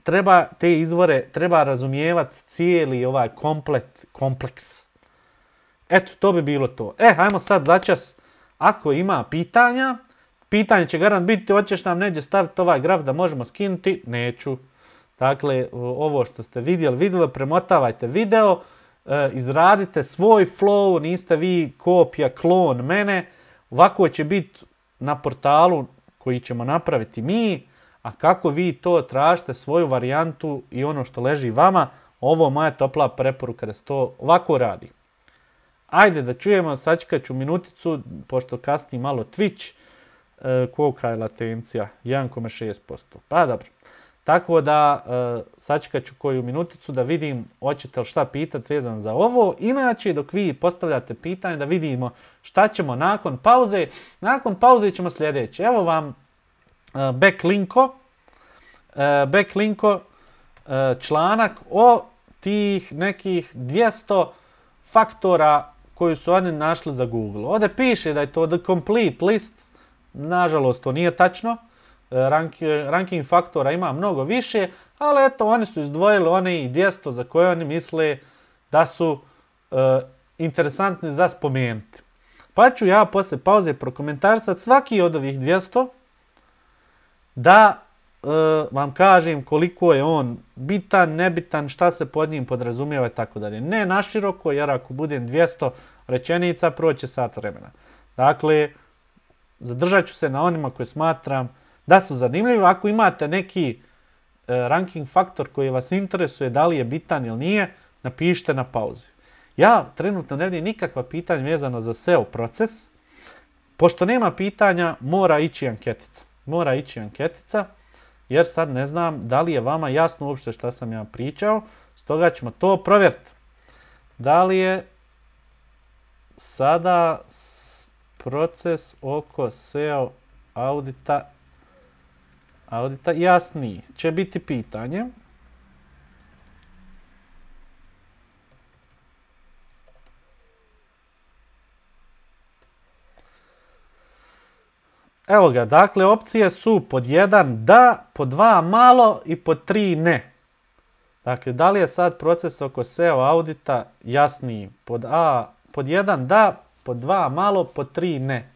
treba te izvore, treba razumijevati cijeli ovaj kompleks. Eto, to bi bilo to. Hajmo sad začas, ako ima pitanja, pitanje će garant biti, hoćeš nam neđe staviti ovaj graf da možemo skinuti? Neću. Dakle, ovo što ste vidjeli, premotavajte video, izradite svoj flow, niste vi kopija, klon mene. Ovako će biti na portalu koji ćemo napraviti mi, a kako vi to tražite, svoju varijantu i ono što leži vama, ovo je moja topla preporuka da se to ovako radi. Ajde da čujemo, sačekat ću minuticu, pošto kasni malo Twitch, kolika je latencija, 1,6%. Pa dobro. Tako da sačekat ću koju minuticu da vidim hoćete li šta pitati vezan za ovo. Inače, dok vi postavljate pitanje, da vidimo šta ćemo nakon pauze. Nakon pauze ćemo sljedeće. Evo vam backlinko članak o tih nekih 200 faktora koju su oni našli za Google. Ovdje piše da je to the complete list. Nažalost, to nije tačno. Ranking faktora ima mnogo više, ali eto, oni su izdvojili one i 200 za koje oni misle da su interesantni za spomenuti. Pa ću ja poslije pauze prokomentarisati svaki od ovih 200 da vam kažem koliko je on bitan, nebitan, šta se pod njim podrazumijeva i tako dalje. Ne naširoko, jer ako budem 200 rečenica, proće sat vremena. Dakle, zadržat ću se na onima koje smatram da su zanimljivi. Ako imate neki ranking faktor koji vas interesuje, da li je bitan ili nije, napišite na pauzi. Ja trenutno ne vidim nikakva pitanja vezana za SEO proces. Pošto nema pitanja, mora ići anketica. Jer sad ne znam da li je vama jasno uopšte šta sam ja pričao. Stoga ćemo to provjeriti. Da li je sada proces oko SEO audita jasniji? Će biti pitanje. Evo ga, dakle, opcije su pod 1 da, pod 2 malo i pod 3 ne. Dakle, da li je sad proces oko SEO audita jasniji? Pod 1 da, pod 2 malo, pod 3 ne.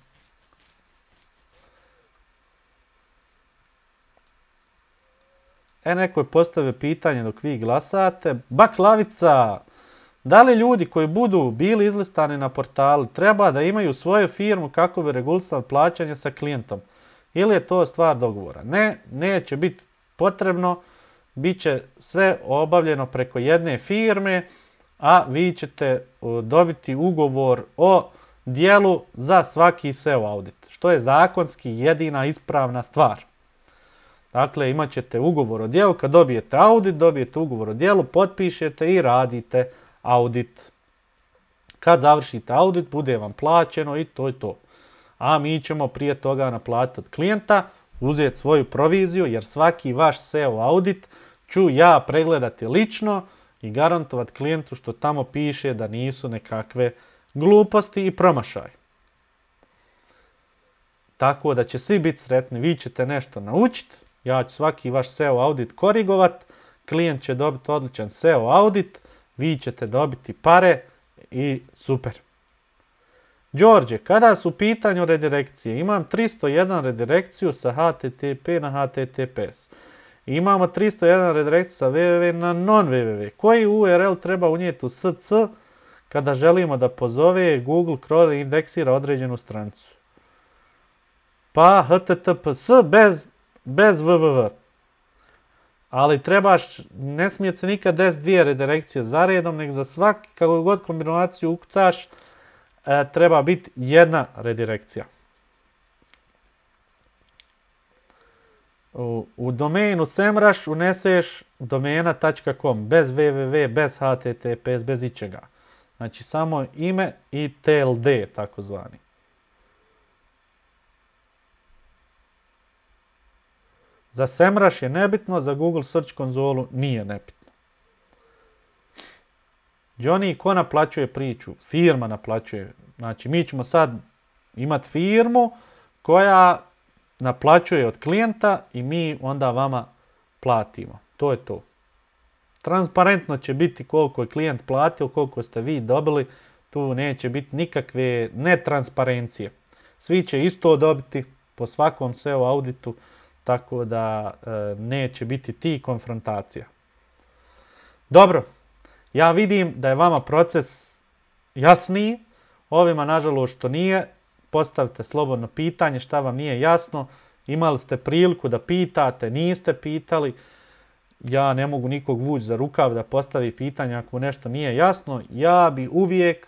Neko je postavio pitanje dok vi glasate. Baklavica, da li ljudi koji budu bili izlistani na portalu treba da imaju svoju firmu kako bi regulisali plaćanje sa klijentom? Ili je to stvar dogovora? Ne, neće biti potrebno. Biće sve obavljeno preko jedne firme, a vi ćete dobiti ugovor o dijelu za svaki SEO audit, što je zakonski jedina ispravna stvar. Dakle, imat ćete ugovor o djelu, kad dobijete audit, dobijete ugovor o djelu, potpišete i radite audit. Kad završite audit, bude vam plaćeno i to je to. A mi ćemo prije toga naplatiti od klijenta, uzeti svoju proviziju, jer svaki vaš SEO audit ću ja pregledati lično i garantovati klijentu što tamo piše da nisu nekakve gluposti i promašaj. Tako da će svi biti sretni, vi ćete nešto naučiti, ja ću svaki vaš SEO audit korigovat, klijent će dobiti odličan SEO audit, vi ćete dobiti pare i super. Đorđe, kada su u pitanju redirekcije, imam 301 redirekciju sa HTTP na HTTPS. Imamo 301 redirekciju sa www na non-www. Koji URL treba unijeti u SC kada želimo da pozove Google Chrome indeksira određenu stranicu? Pa HTTPS bez www. Ali trebaš, ne smije se nikad desiti dvije redirekcije za redom, nego za svaki, kako god kombinaciju ukucaš, treba biti jedna redirekcija. U domenu SEMrush uneseš domena.com, bez www, bez https, bez ičega. Znači samo ime i TLD, takozvani. Za SEMrush je nebitno, za Google Search konzolu nije nebitno. Johnny, ko naplaćuje priču? Firma naplaćuje. Znači, mi ćemo sad imati firmu koja naplaćuje od klijenta i mi onda vama platimo. To je to. Transparentno će biti koliko je klijent platio, koliko ste vi dobili. Tu neće biti nikakve netransparencije. Svi će isto dobiti po svakom SEO auditu, tako da neće biti ti konfrontacija. Dobro. Ja vidim da je vama proces jasniji, ovima nažalost što nije, postavite slobodno pitanje šta vam nije jasno, imali ste priliku da pitate, niste pitali, ja ne mogu nikog vući za rukav da postavi pitanje ako nešto nije jasno, ja bi uvijek,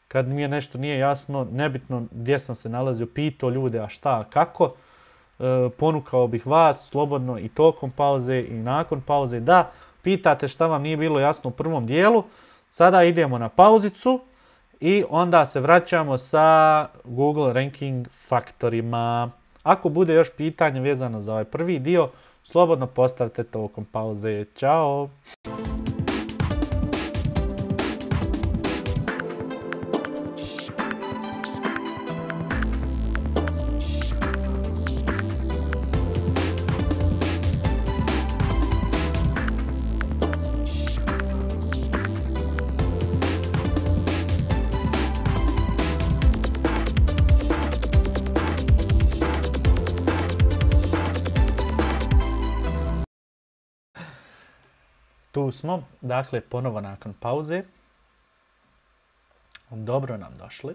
kad mi je nešto nije jasno, nebitno gdje sam se nalazio, pitao ljude a šta, a kako, ponukao bih vas slobodno i tokom pauze i nakon pauze da pitate šta vam nije bilo jasno u prvom dijelu. Sada idemo na pauzicu i onda se vraćamo sa Google ranking faktorima. Ako bude još pitanje vezano za ovaj prvi dio, slobodno postavite tokom pauze. Ćao! Tu smo, dakle, ponovo nakon pauze. Dobro nam došli.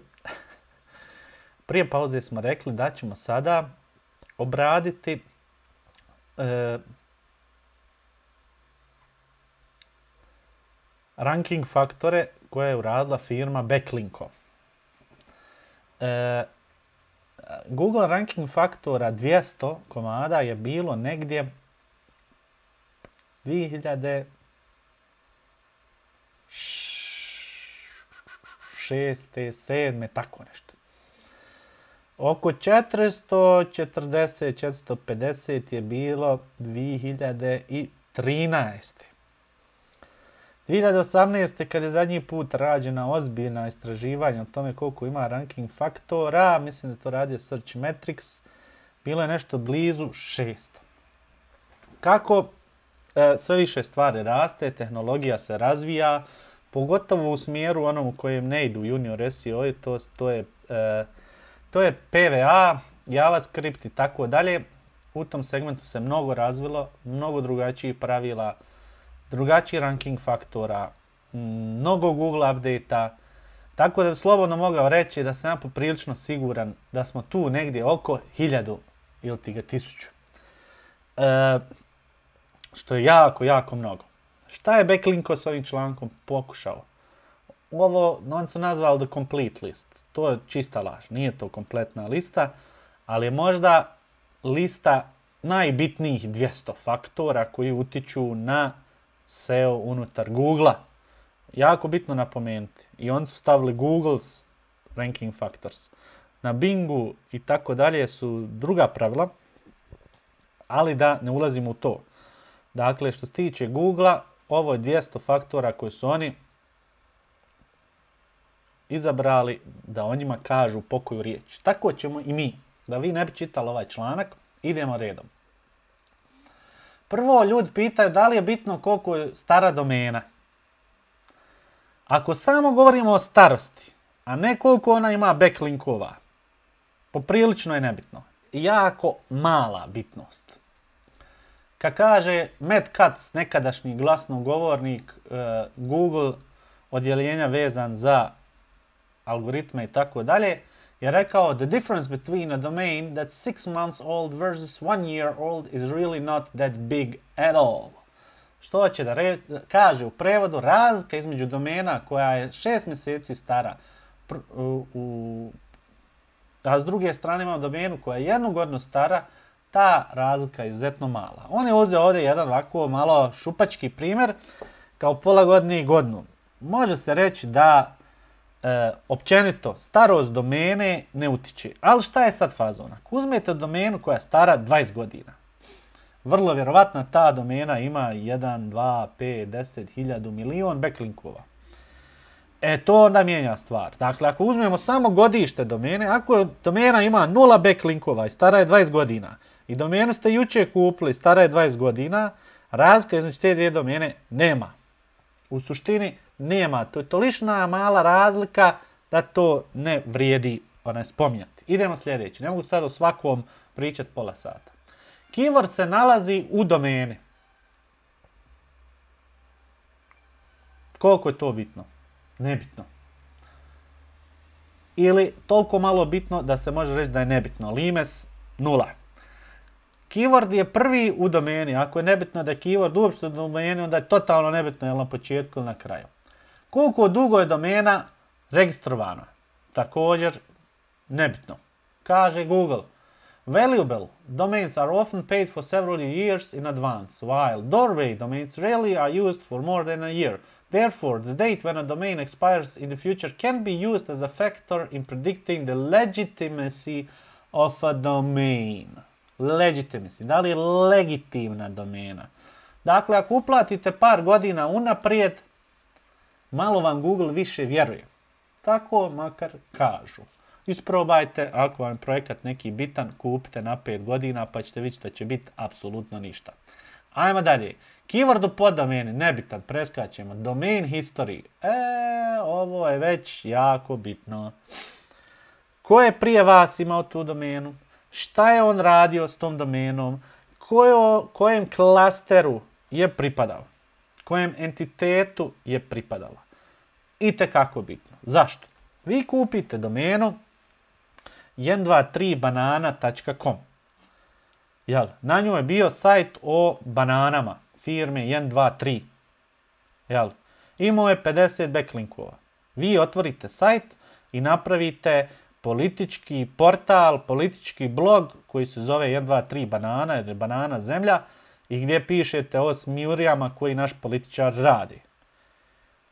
Prije pauze smo rekli da ćemo sada obraditi ranking faktore koje je uradila firma Backlinko. Google ranking faktora 200 komada je bilo negdje 2006. 7. tako nešto. Oko 440-450 je bilo 2013. 2018. kad je zadnji put rađena ozbiljna istraživanja o tome koliko ima ranking faktora, mislim da to radio Searchmetrics, bilo je nešto blizu 600. Kako sve više stvari raste, tehnologija se razvija, pogotovo u smjeru onom u kojem ne idu junior SEO, to je PVA, JavaScript i tako dalje. U tom segmentu se mnogo razvilo, mnogo drugačijih pravila, drugačiji ranking faktora, mnogo Google update-a, tako da bi slobodno mogao reći da sam ja poprilično siguran da smo tu negdje oko 1000 ili ti ga 1000. Što je jako, jako mnogo. Šta je Backlinko s ovim člankom pokušao? ovo oni su nazvali the complete list. To je čista laž, nije to kompletna lista, ali je možda lista najbitnijih 200 faktora koji utiču na SEO unutar Google-a. Jako bitno napomenuti. I oni su stavili Google's ranking factors. Na Bingu i tako dalje su druga pravila, ali da ne ulazimo u to. Dakle, što se tiče Google-a, ovo je 200 faktora koji su oni izabrali da o njima kažu pokoju riječ. Tako ćemo i mi. Da vi ne bi čitali ovaj članak, idemo redom. Prvo, ljudi pitaju da li je bitno koliko je stara domena. Ako samo govorimo o starosti, a ne koliko ona ima backlinkova, poprilično je nebitno. Jako mala bitnost. Kad kaže Matt Cutts, nekadašnji glasnogovornik Google odjeljenja vezan za algoritme i tako dalje, je rekao the difference between a domain that's 6 months old versus 1 year old is really not that big at all. Što će da kaže u prevodu, razlika između domena koja je 6 mjeseci stara, a s druge strane imamo domenu koja je 1 godinu stara, ta razlika je izuzetno mala. On je uzeo ovdje jedan ovako malo šupački primjer, kao pola godine i godinu. Može se reći da općenito starost domene ne utiče. Ali šta je sad fazon? Ako uzmete domenu koja je stara 20 godina, vrlo vjerovatno ta domena ima 1, 2, 5, 10, 1000, milion backlinkova. To onda mijenja stvar. Dakle, ako uzmemo samo godište domene, ako domena ima 0 backlinkova i stara je 20 godina, i domenu ste jučer kupili, stara je 20 godina, razlika između te dvije domene nema. U suštini nema. To je tolična mala razlika da to ne vrijedi spominjati. Idemo sljedeći. Ne mogu sad o svakom pričati pola sata. Keyword se nalazi u domeni. Koliko je to bitno? Nebitno. Ili toliko malo bitno da se može reći da je nebitno. Limes 0. Keyword je prvi u domeni. Ako je nebitno da je keyword uopšte u domeni, onda je totalno nebitno je li na početku ili na kraju. Koliko dugo je domena registrovana? Također nebitno. Kaže Google. Valuable domains are often paid for several years in advance, while doorway domains rarely are used for more than a year. Therefore, the date when a domain expires in the future can be used as a factor in predicting the legitimacy of a domain. Legitimacy, da li je legitimna domena? Dakle, ako uplatite par godina unaprijed, malo vam Google više vjeruje. Tako makar kažu. Isprobajte, ako vam je projekat neki bitan, kupite na 5 godina pa ćete vidjeti da će biti apsolutno ništa. Ajmo dalje. Keyword u poddomeni, nebitan, preskačemo. Domain history. Ovo je već jako bitno. Ko je prije vas imao tu domenu? Šta je on radio s tom domenom? Kojem klasteru je pripadao? Kojem entitetu je pripadala? Itekako bitno. Zašto? Vi kupite domenu 123banana.com. Na njoj je bio sajt o bananama firme 123. Imao je 50 backlinkova. Vi otvorite sajt i napravite politički portal, politički blog koji se zove 123 banana, jer je banana zemlja, i gdje pišete o smijurijama koji naš političar radi.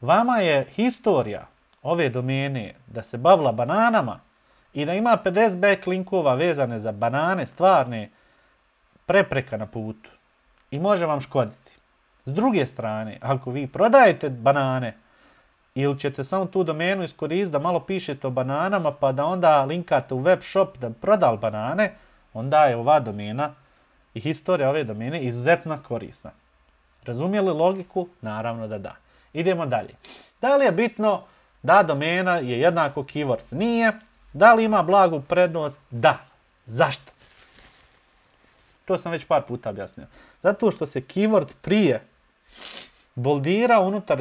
Vama je historija ove domene da se bavila bananama i da ima 50 backlinkova vezane za banane, stvarne, prepreka na putu i može vam škoditi. S druge strane, ako vi prodajete banane ili ćete samo tu domenu iskoristiti da malo pišete o bananama pa da onda linkate u web shop da prodali banane, onda je ova domena i historija ove domene izuzetno korisna. Razumijeli logiku? Naravno da da. Idemo dalje. Da li je bitno da domena je jednako keyword? Nije. Da li ima blagu prednost? Da. Zašto? To sam već par puta objasnio. Zato što se keyword prije boldira unutar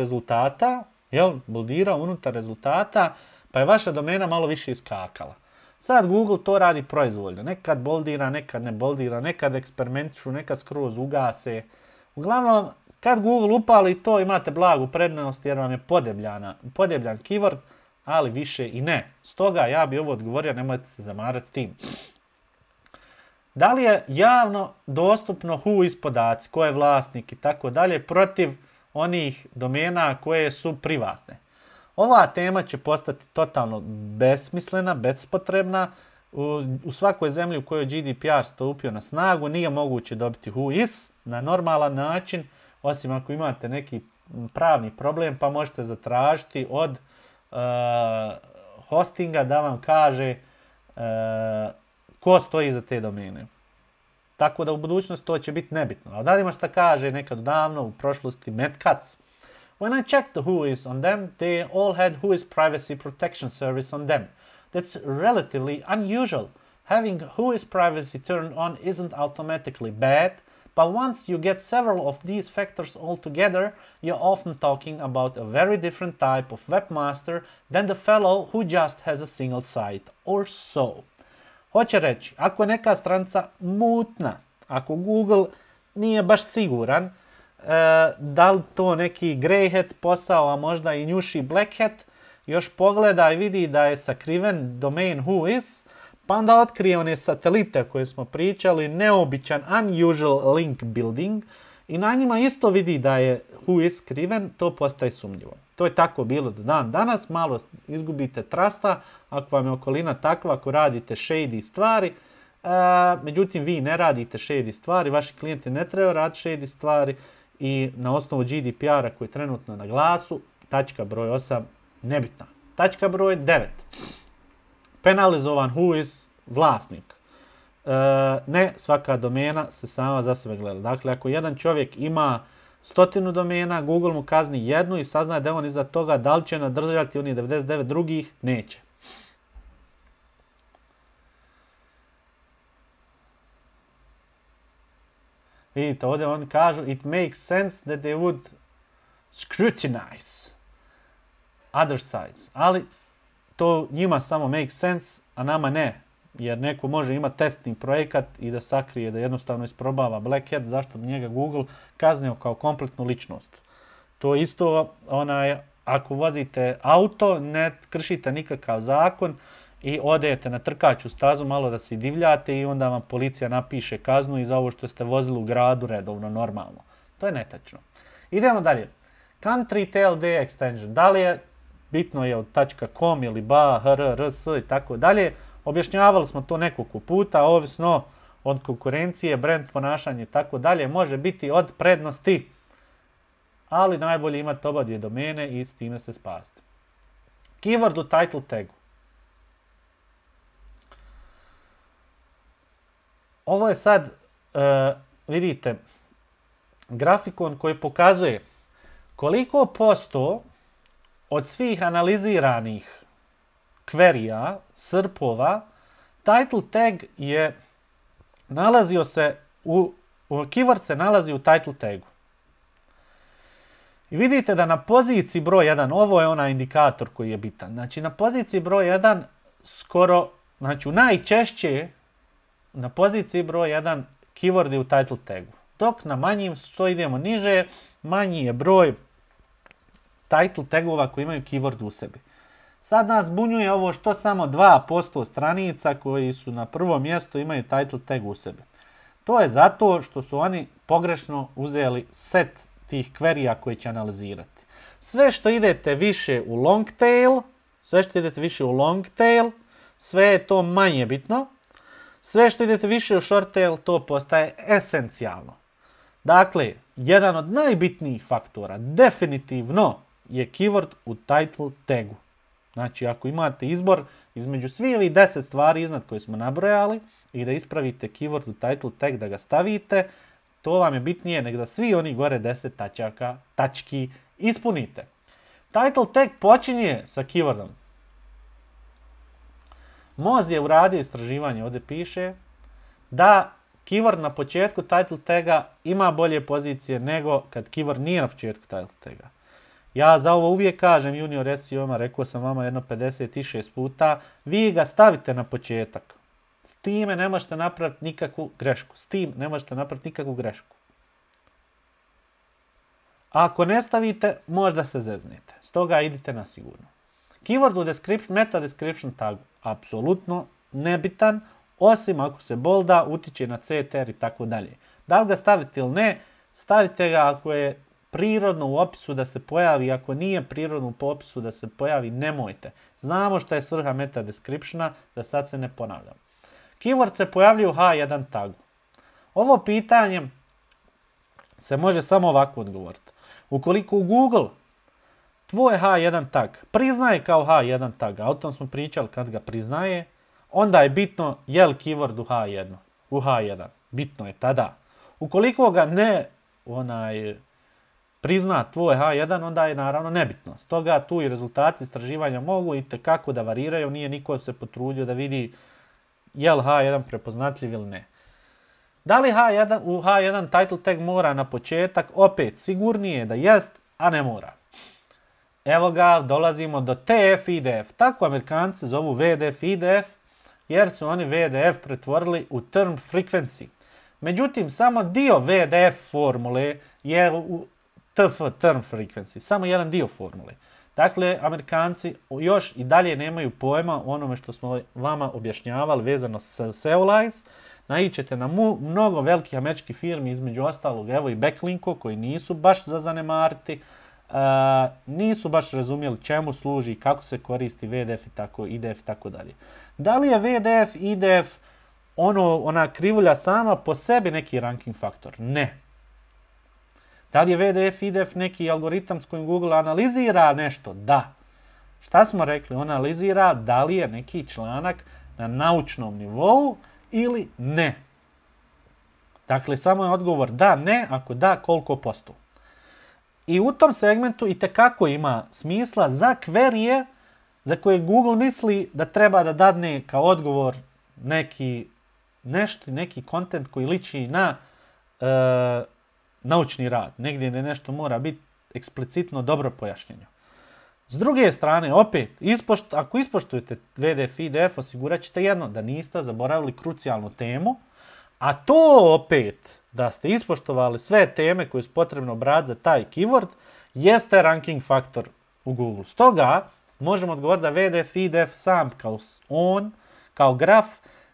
rezultata, pa je vaša domena malo više iskakala. Sad Google to radi proizvoljno. Nekad boldira, nekad ne boldira, nekad eksperimentišu, nekad skroz ugase. Uglavnom, Kad Google upali to, imate blagu prednost jer vam je podebljan keyword, ali više i ne. Stoga ja bi ovo odgovorio, nemojte se zamarati tim. Da li je javno dostupno whois podaci, ko je vlasnik i tako dalje, protiv onih domena koje su privatne? Ova tema će postati totalno besmislena, bespotrebna. U svakoj zemlji u kojoj GDPR stupio na snagu nije moguće dobiti whois na normalan način, osim ako imate neki pravni problem pa možete zatražiti od hostinga da vam kaže ko stoji iza te domene. Tako da u budućnosti to će biti nebitno. A da li ima šta kaže nekad davno u prošlosti Matt Cutts? When I checked the whois on them, they all had whois privacy protection service on them. That's relatively unusual. Having whois privacy turned on isn't automatically bad, but once you get several of these factors all together, you're often talking about a very different type of webmaster than the fellow who just has a single site or so. Hoće reći, ako je neka stranica mutna, ako Google nije baš siguran, da li to neki grey hat posao, a možda i njuši black hat, još pogleda i vidi da je sakriven domain whois, pa onda otkrije one satelite koje smo pričali, neobičan unusual link building, i na njima isto vidi da je whois skriven, to postaje sumnjivo. To je tako bilo do dan danas, malo izgubite trusta ako vam je okolina takva, ako radite shady stvari, međutim vi ne radite shady stvari, vaši klijenti ne trebaju raditi shady stvari i na osnovu GDPR-a koji je trenutno na glasu, tačka broj 8 nebitna. Tačka broj 9. Penalizovan whois vlasnik. Ne svaka domena se sama za sebe gleda. Dakle, ako jedan čovjek ima 100 domena, Google mu kazni jednu i saznaje da on iza toga, da li će nadržati onih 99 drugih, neće. Vidite, ovdje oni kažu it makes sense that they would scrutinize other sites. Ali to njima samo makes sense, a nama ne. Jer neko može imati testni projekat i da sakrije, da jednostavno isprobava black hat, zašto bi njega Google kaznio kao kompletnu ličnost. To isto, ako vozite auto, ne kršite nikakav zakon i odete na trkaću stazu, malo da se divljate i onda vam policija napiše kaznu i za ovo što ste vozili u gradu redovno, normalno. To je netačno. Idemo dalje. Country TLD extension. Da li je, bitno je od .com ili .ba, hr, rs i tako dalje. Objašnjavali smo to nekoliko puta, ovisno od konkurencije, brand ponašanje i tako dalje, može biti od prednosti, ali najbolje imati oba dvije domene i s time se spasiti. Keyword u title tagu. Ovo je sad, vidite, grafikon koji pokazuje koliko posto od svih analiziranih query-a, srpova, title tag je nalazio se keyword se nalazi u title tagu. I vidite da na poziciji broj 1, ovo je onaj indikator koji je bitan. Znači na poziciji broj 1 skoro, znači najčešće na poziciji broj 1 keyword je u title tagu. Dok na manjim, što idemo niže, manji je broj title tagova koji imaju keyword u sebi. Sad nas bunjuje ovo što samo 2% stranica koji su na prvom mjestu imaju title tag u sebi. To je zato što su oni pogrešno uzeli set tih query-a koji će analizirati. Sve što idete više u long tail, sve je to manje bitno. Sve što idete više u short tail, to postaje esencijalno. Dakle, jedan od najbitnijih faktora definitivno je keyword u title tagu. Znači, ako imate izbor između svih ovih 10 stvari iznad koje smo nabrojali i da ispravite keyword u title tag, da ga stavite, to vam je bitnije nego da svi oni gore 10 tački ispunite. Title tag počinje sa keywordom. Moz je uradio istraživanje, ovdje piše, da keyword na početku title taga ima bolje pozicije nego kad keyword nije na početku title taga. Ja za ovo uvijek kažem junior SEO-ma, rekao sam vama jedno 56 puta, vi ga stavite na početak. S time ne možete napraviti nikakvu grešku. A ako ne stavite, možda se zeznete. Stoga idite na sigurno. Keyword u description, meta description tagu, apsolutno nebitan, osim ako se bolda, utiče na CTR i tako dalje. Da li ga stavite ili ne, stavite ga ako je prirodno u opisu da se pojavi, ako nije prirodno u opisu da se pojavi, nemojte. Znamo što je svrha meta descriptiona, da sad se ne ponavljam. Keyword se pojavljuje u H1 tagu. Ovo pitanje se može samo ovako odgovoriti. Ukoliko u Google tvoj H1 tag priznaje kao H1 tag, a o tom smo pričali kad ga priznaje, onda je bitno je li keyword u H1. Bitno je tada. Ukoliko ga ne prizna tvoj H1, onda je naravno nebitno. Stoga tu i rezultati istraživanja mogu itekako da variraju, nije niko se potrudio da vidi je li H1 prepoznatljiv ili ne. Da li u H1 title tag mora na početak? Opet, sigurnije je da jest, a ne mora. Evo ga, dolazimo do TF IDF. Tako Amerikanci zovu VDF IDF, jer su oni VDF pretvorili u term frequency. Međutim, samo dio VDF formule je u TF, term frequency. Samo jedan dio formule. Dakle, Amerikanci još i dalje nemaju pojma o onome što smo vama objašnjavali vezano sa SEO lines. Naićete na mnogo velikih američkih firmi, između ostalog, evo i Backlinko, koji nisu baš za zanemariti, nisu baš razumjeli čemu služi, kako se koristi VDF i tako, IDF i tako dalje. Da li je VDF, IDF, ona krivulja sama po sebi neki ranking faktor? Ne. Da li je VDF, IDF neki algoritam s kojim Google analizira nešto? Da. Šta smo rekli? On analizira da li je neki članak na naučnom nivou ili ne. Dakle, samo je odgovor da, ne, ako da, koliko posto. I u tom segmentu itekako ima smisla za kverije za koje Google misli da treba da dadne kao odgovor neki kontent koji liči na naučni rad. Negdje gdje nešto mora biti eksplicitno dobro pojašnjeno. S druge strane, opet, ako ispoštujete VDF i IDF, osigurat ćete jedno, da niste zaboravili krucijalnu temu, a to opet, da ste ispoštovali sve teme koje su potrebno brati za taj keyword, jeste ranking faktor u Google. Stoga, možemo odgovoriti da VDF i IDF sam kao graf,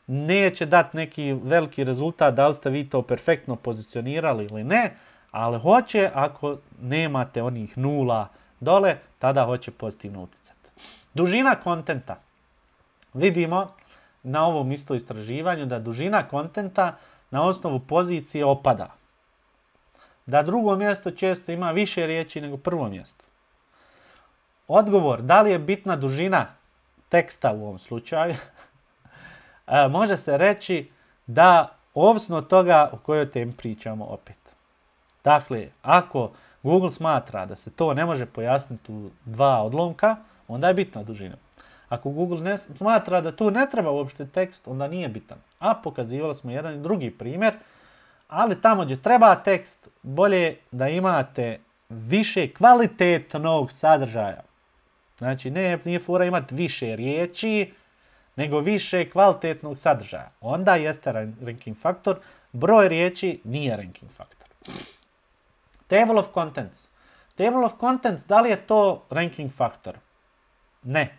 neće dati neki veliki rezultat da li ste vi to perfektno pozicionirali ili ne, ali hoće ako nemate onih nula dole, tada hoće pozitivno utjecati. Dužina kontenta. Vidimo na ovom isto istraživanju da dužina kontenta na osnovu pozicije opada. Da drugo mjesto često ima više riječi nego prvo mjesto. Odgovor, da li je bitna dužina teksta u ovom slučaju? Može se reći da ovisno od toga o kojoj temi pričamo opet. Dakle, ako Google smatra da se to ne može pojasniti u 2 odlomka, onda je bitna dužina. Ako Google ne smatra da tu ne treba uopšte tekst, onda nije bitan. A pokazivali smo jedan i drugi primjer, ali tamo gdje treba tekst, bolje da imate više kvalitetnog sadržaja. Znači, nije fora imati više riječi, nego više kvalitetnog sadržaja. Onda jeste ranking faktor, broj riječi nije ranking faktor. Table of contents. Table of contents, da li je to ranking faktor? Ne.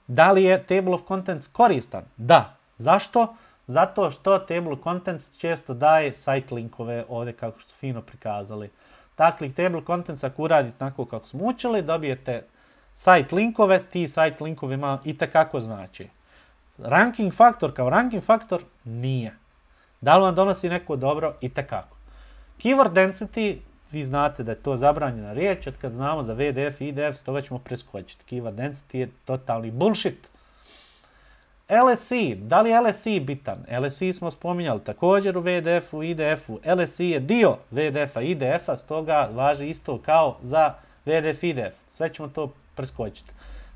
Da li je table of contents koristan? Da. Zašto? Zato što table of contents često daje site linkove, ovdje kako su fino prikazali. Dakle, table of contents ako uradite tako kako smo učili, dobijete site linkove, ti site linkovima itekako znači. Ranking faktor kao ranking faktor nije. Da li vam donosi neko dobro? Itekako. Keyword density, vi znate da je to zabranjena riječ, od kad znamo za VDF i IDF, toga ćemo preskočiti. Keyword density je totalni bullshit. LSI, da li je LSI bitan? LSI smo spominjali također u VDF-u i IDF-u. LSI je dio VDF-a i IDF-a, stoga važi isto kao za VDF i IDF. Sve ćemo to preskočiti.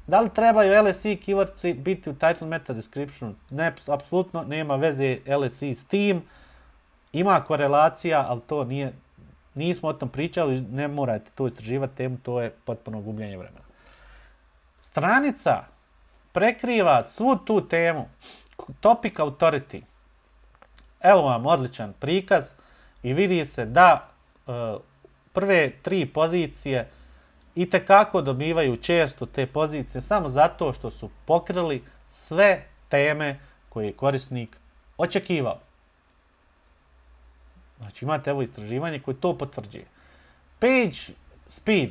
Da li trebaju LSI keywordsi biti u title meta descriptionu? Ne, apsolutno nema veze LSI s tim. Ima korelacija, ali to nismo o tom pričali, ne morate to istraživati temu, to je potpuno gubljenje vremena. Stranica prekriva svu tu temu. Topic authority. Evo vam odličan prikaz i vidi se da prve 3 pozicije itekako dobivaju često te pozicije samo zato što su pokrili sve teme koje je korisnik očekivao. Znači imate evo istraživanje koje to potvrđuje. Page speed,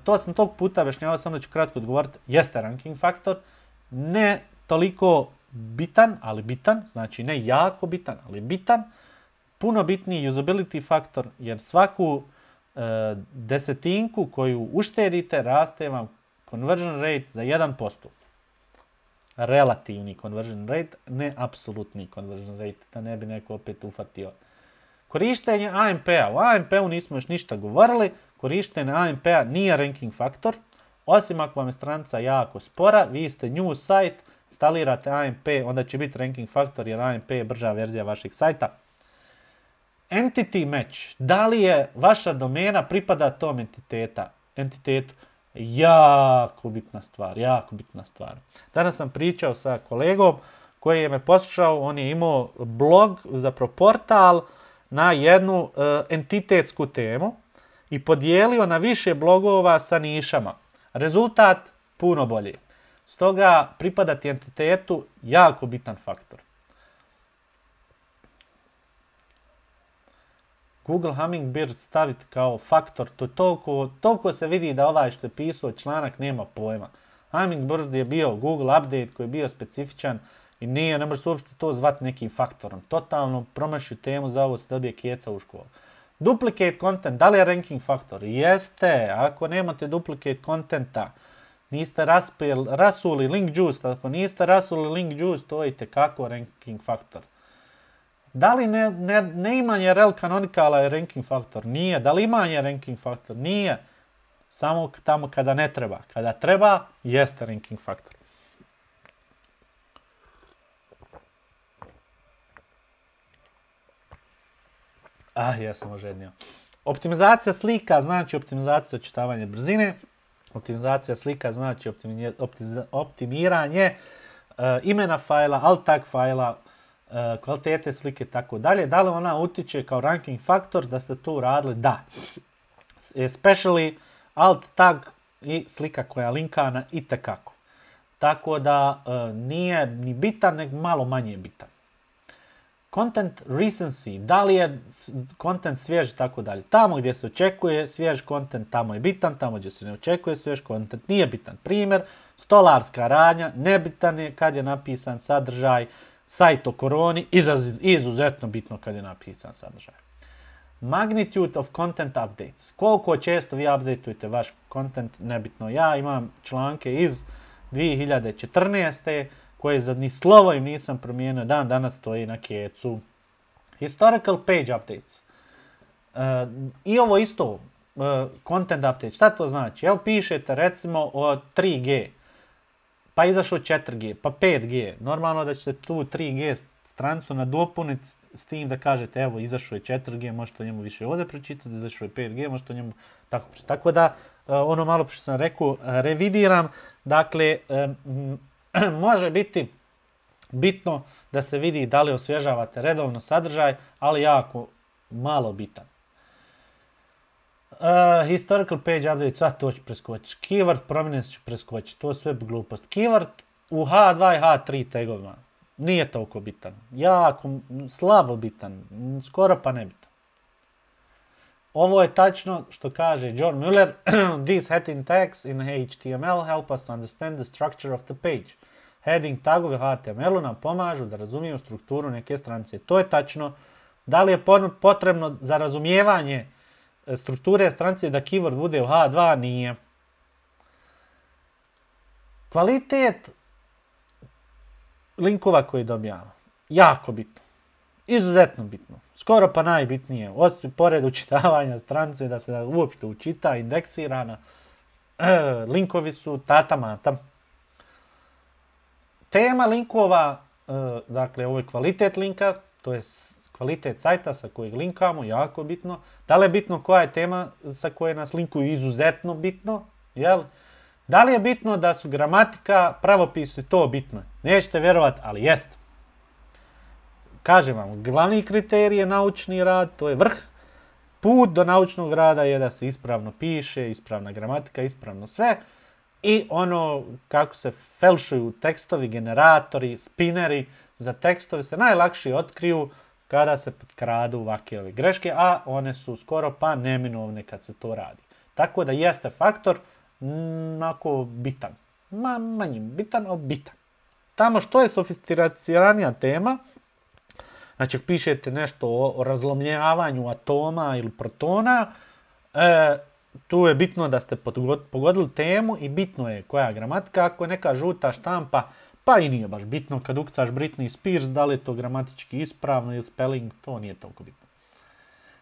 to sam tog puta objašnjavao, samo da ću kratko odgovoriti, jeste ranking faktor, ne toliko bitan, ali bitan, znači ne jako bitan, ali bitan, puno bitniji usability faktor, jer svaku desetinku koju uštedite raste vam conversion rate za 1%. Relativni conversion rate, ne apsolutni conversion rate, da ne bi neko opet ufatio. Korištenje AMP-a. U AMP-u nismo još ništa govorili. Korištenje AMP-a nije ranking faktor. Osim ako vam je stranica jako spora, vi ste new site, instalirate AMP, onda će biti ranking faktor jer AMP je brža verzija vašeg sajta. Entity match. Da li je vaša domena pripada tom entitetu? Jako bitna stvar, jako bitna stvar. Danas sam pričao sa kolegom koji je me poslušao, on je imao blog, zapravo portal, na jednu entitetsku temu i podijelio na više blogova sa nišama. Rezultat puno bolji. Stoga pripadati entitetu jako bitan faktor. Google Hummingbird staviti kao faktor, to toliko se vidi da ovaj što je pisao članak nema pojma. Hummingbird je bio Google update koji je bio specifičan i ne može se uopšte to zvati nekim faktorom. Totalno promašio temu, za ovo se dobije keca u školu. Duplicate content, da li je ranking faktor? Jeste, ako nemate duplicate contenta, niste rasuli link juice, ako niste rasuli link juice, to je itekako ranking faktor. Da li neimanje rel kanonikala je ranking faktor? Nije. Da li imanje ranking faktor? Nije. Samo tamo kada ne treba. Kada treba, jeste ranking faktor. Jesam ožednio. Optimizacija slika znači optimizacija očitavanja brzine. Optimizacija slika znači optimiranje imena fajla, alt tag fajla, kvalitete slike i tako dalje. Da li ona utiče kao ranking faktor da ste to uradili? Da. Especially alt tag i slika koja je linkana itekako. Tako da nije ni bitan, nego malo manje bitan. Content recency, da li je content svjež i tako dalje. Tamo gdje se očekuje svjež content, tamo je bitan, tamo gdje se ne očekuje svjež content, nije bitan. Primjer, stolarska radnja, nebitan je kad je napisan sadržaj, sajt o koroni, izuzetno bitno kad je napisan sadržaj. Magnitude of content updates. Koliko često vi updateujete vaš content, nebitno. Ja imam članke iz 2014. koje za ni slovo im nisam promijenio, dan danas stoji na kecu. Historical page updates. I ovo isto, content update. Šta to znači? Evo pišete recimo o 3G, pa izašao 4G, pa 5G. Normalno da ćete tu 3G stranicu nadopuniti s tim da kažete evo izašao je 4G, možete o njemu više ovdje pročitati, izašao je 5G, možete o njemu tako pročitati. Tako da, ono malo što sam rekao, revidiram. Dakle, može biti bitno da se vidi da li osvježavate redovno sadržaj, ali jako malo bitan. Historical page update, sad to ću preskočiti. Keyword prominence ću preskočiti, to je sve glupost. Keyword u H2 i H3 tagovima nije toliko bitan. Jako slabo bitan, skoro pa nebitan. Ovo je tačno što kaže John Mueller. These heading tags in HTML help us to understand the structure of the page. Heading tagovi u HTML-u nam pomažu da razumijemo strukturu neke stranice. To je tačno. Da li je potrebno za razumijevanje strukture stranice da keyword bude u H2? Nije. Kvalitet linkova koji dobijamo. Jako bitno. Izuzetno bitno. Skoro pa najbitnije. Osim pored učitavanja stranice da se uopšte učita, indeksirana. Linkovi su tata mata. Tema linkova, dakle ovo je kvalitet linka, to je kvalitet sajta sa kojeg linkamo, jako bitno. Da li je bitno koja je tema sa koje nas linkuju? Izuzetno bitno. Jel? Da li je bitno da su gramatika, pravopisi, to bitno? Nećete vjerovati, ali jeste. Kažem vam, glavni kriterij je naučni rad, to je vrh. Put do naučnog rada je da se ispravno piše, ispravna gramatika, ispravno sve. I ono kako se felšuju tekstovi, generatori, spineri za tekstove se najlakše otkriju kada se potkradu ovakve ove greške, a one su skoro pa neminovne kad se to radi. Tako da jeste faktor onako bitan. Manje bitan, ali bitan. Tamo što je sofisticiranija tema, znači pišete nešto o razlomljavanju atoma ili protona, tu je bitno da ste pogodili temu i bitno je koja je gramatika. Ako je neka žuta štampa, pa i nije baš bitno kad ukucaš Britney Spears, da li je to gramatički ispravno ili spelling, to nije toliko bitno.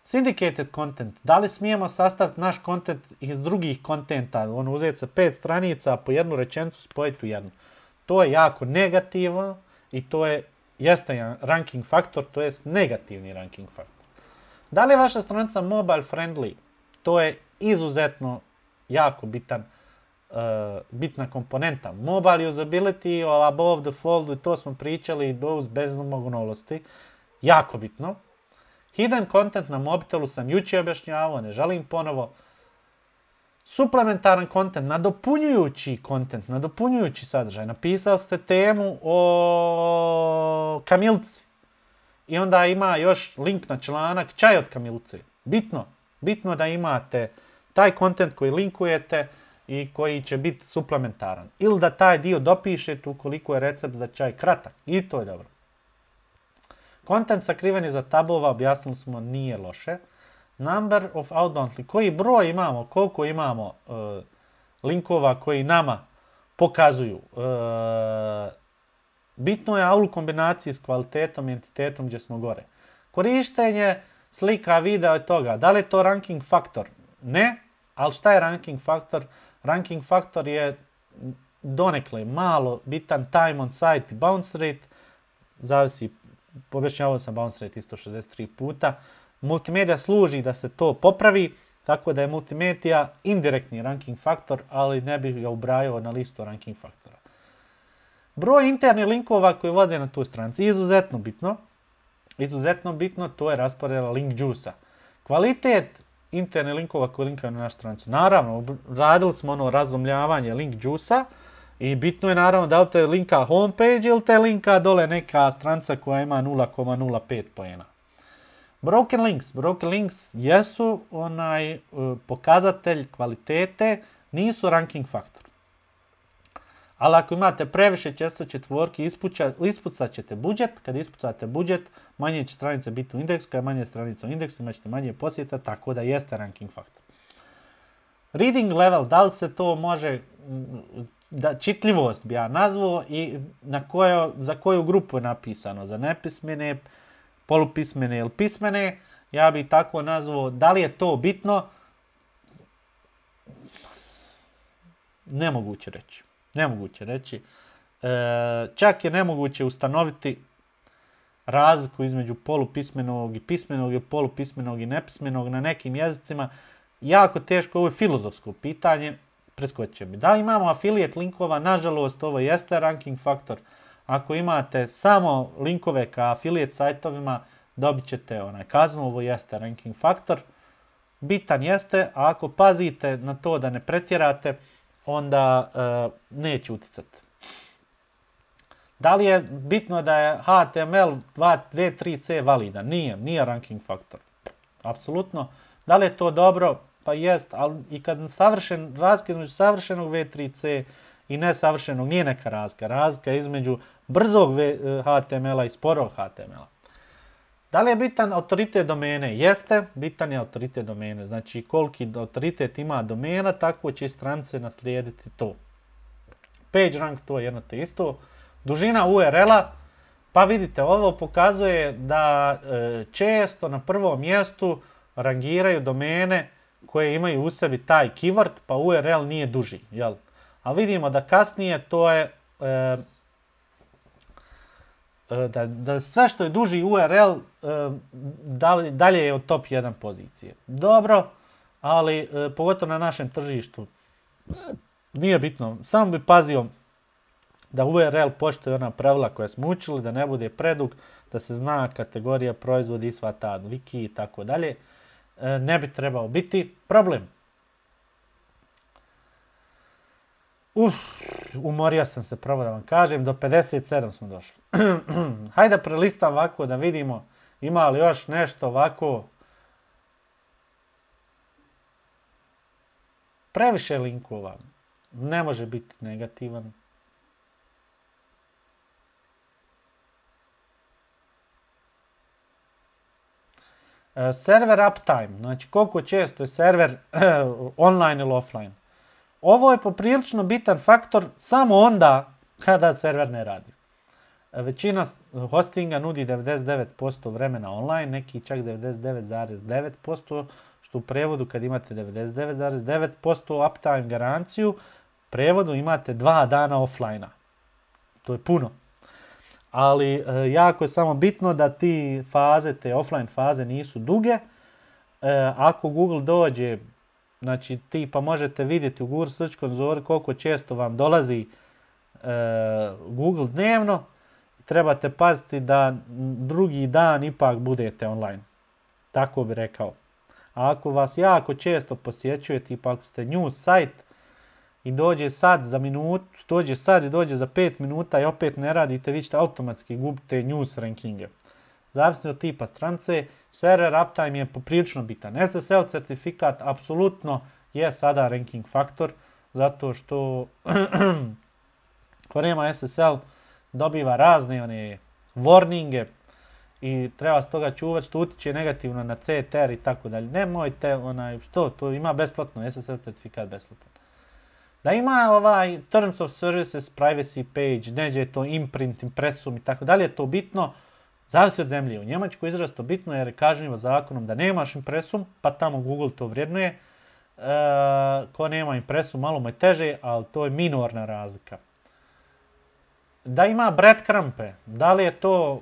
Syndicated content, da li smijemo sastaviti naš content iz drugih kontenta, ono uzeti sa 5 stranica, po jednu rečenicu spojiti u jednu. To je jako negativno i to jeste jedan ranking faktor, to jest negativni ranking faktor. Da li je vaša stranica mobile friendly? To je izuzetno jako bitna komponenta. Mobile usability, above the fold, i to smo pričali bez bezmognolosti. Jako bitno. Hidden content na mobitelu sam jučer objašnjavao, ne želim ponovo. Suplementaran content, nadopunjujući sadržaj. Napisali ste temu o kamilci. I onda ima još link na članak čaj od kamilce. Bitno da imate taj content koji linkujete i koji će biti suplementaran. Ili da taj dio dopišete ukoliko je recept za čaj kratak. I to je dobro. Content sakriven iza tabova, objasnili smo, nije loše. Number of outbound, koji broj imamo, koliko imamo linkova koji nama pokazuju. Bitno je a u kombinaciji s kvalitetom i entitetom gdje smo gore. Korištenje slika, videa i toga. Da li je to ranking faktor? Ne, ali šta je ranking faktor? Ranking faktor je donekle malo bitan time on site i bounce rate. Zavisi, objašnjavao sam bounce rate isto 63 puta. Multimedija služi da se to popravi, tako da je multimedija indirektni ranking faktor, ali ne bih ga ubrajao na listu ranking faktora. Broj internih linkova koji vode na tu stranici, izuzetno bitno, to je rasporeda link juice-a. Kvalitet internih linkova koji linkaju na našu stranicu. Naravno, radili smo ono razumljavanje link juice-a i bitno je naravno da li te linka homepage ili te linka dole neka stranica koja ima 0,05 poena. Broken links jesu pokazatelj kvalitete, nisu ranking faktor. Ali ako imate previše čestoće tvorki, ispucat ćete budžet. Kad ispucate budžet, manje će stranice biti u indeksu. Kad je manje stranica u indeksu, imat ćete manje posjeta, tako da jeste ranking faktor. Reading level, da li se to može, čitljivost bi ja nazvao i za koju grupu je napisano, za nepismene, polupismene ili pismene, ja bih tako nazvao, da li je to bitno? Nemoguće reći. Čak je nemoguće ustanoviti razliku između polupismenog i pismenog ili polupismenog i nepismenog na nekim jezicima. Jako teško, ovo je filozofsko pitanje, preskočit će mi. Da li imamo affiliate linkova? Nažalost, ovo jeste ranking faktor. Ako imate samo linkove ka affiliate sajtovima, dobit ćete kaznu, ovo jeste ranking faktor. Bitan jeste, a ako pazite na to da ne pretjerate, onda neće uticati. Da li je bitno da je HTML 2.3c validan? Nije ranking faktor. Apsolutno. Da li je to dobro? Pa jest, ali i kad razlika između savršenog V3C i nesavršenog nije neka razlika. Razlika između brzog HTML-a i sporog HTML-a. Da li je bitan autoritet domene? Jeste, bitan je autoritet domene. Znači, koliki autoritet ima domena, tako će stranice naslijediti to. Page rank, to je jedno te isto. Dužina URL-a, pa vidite, ovo pokazuje da često na prvom mjestu rangiraju domene koje imaju u sebi taj keyword, pa URL nije duži. Jel? A vidimo da kasnije to je da sve što je duži URL dalje je od top 1 pozicije. Dobro, ali pogotovo na našem tržištu nije bitno. Samo bi pazio da URL poštuje ona pravila koja smo učili, da ne bude predug, da se zna kategorija, proizvod i sva ta wiki i tako dalje. ne bi trebao biti problem. Umorio sam se, pravo da vam kažem, do 57 smo došli. Hajde prelistam ovako da vidimo ima li još nešto ovako. Previše linkova, ne može biti negativan. Server uptime, znači koliko često je server online ili offline. Ovo je poprilično bitan faktor samo onda kada server ne radi. Većina hostinga nudi 99% vremena online, neki čak 99,9%, što u prevodu kad imate 99,9% uptime garanciju, u prevodu imate 2 dana offline-a. To je puno. Ali jako je samo bitno da te offline faze nisu duge. Ako Google dođe, znači tipa možete vidjeti u Google Search konzoli koliko često vam dolazi Google dnevno, trebate paziti da drugi dan ipak budete online. Tako bi rekao. A ako vas jako često posjećuje, tipa ako ste news site i dođe sad za minutu, dođe sad i dođe za 5 minuta i opet ne radite, vi ćete automatski gubite news rankinge. Zavisno od tipa stranice, server uptime je poprilično bitan. SSL certifikat apsolutno je sada ranking faktor, zato što ko nema SSL dobiva razne warninge i treba s toga čuvati što utiče negativno na CTR i tako dalje. Nemojte, to ima besplatno, SSL certifikat besplatan. Da ima Terms of Services, Privacy page, neđe je to imprint, impresum i tako dalje, je to bitno. Zavisi od zemlje. U Njemačkoj izrazito bitno jer je kažnjivo zakonom da nemaš impresum, pa tamo Google to vrednuje. Ko nema impresum, malo mu je teže, ali to je minorna razlika. Da ima breadcrumbe, da li je to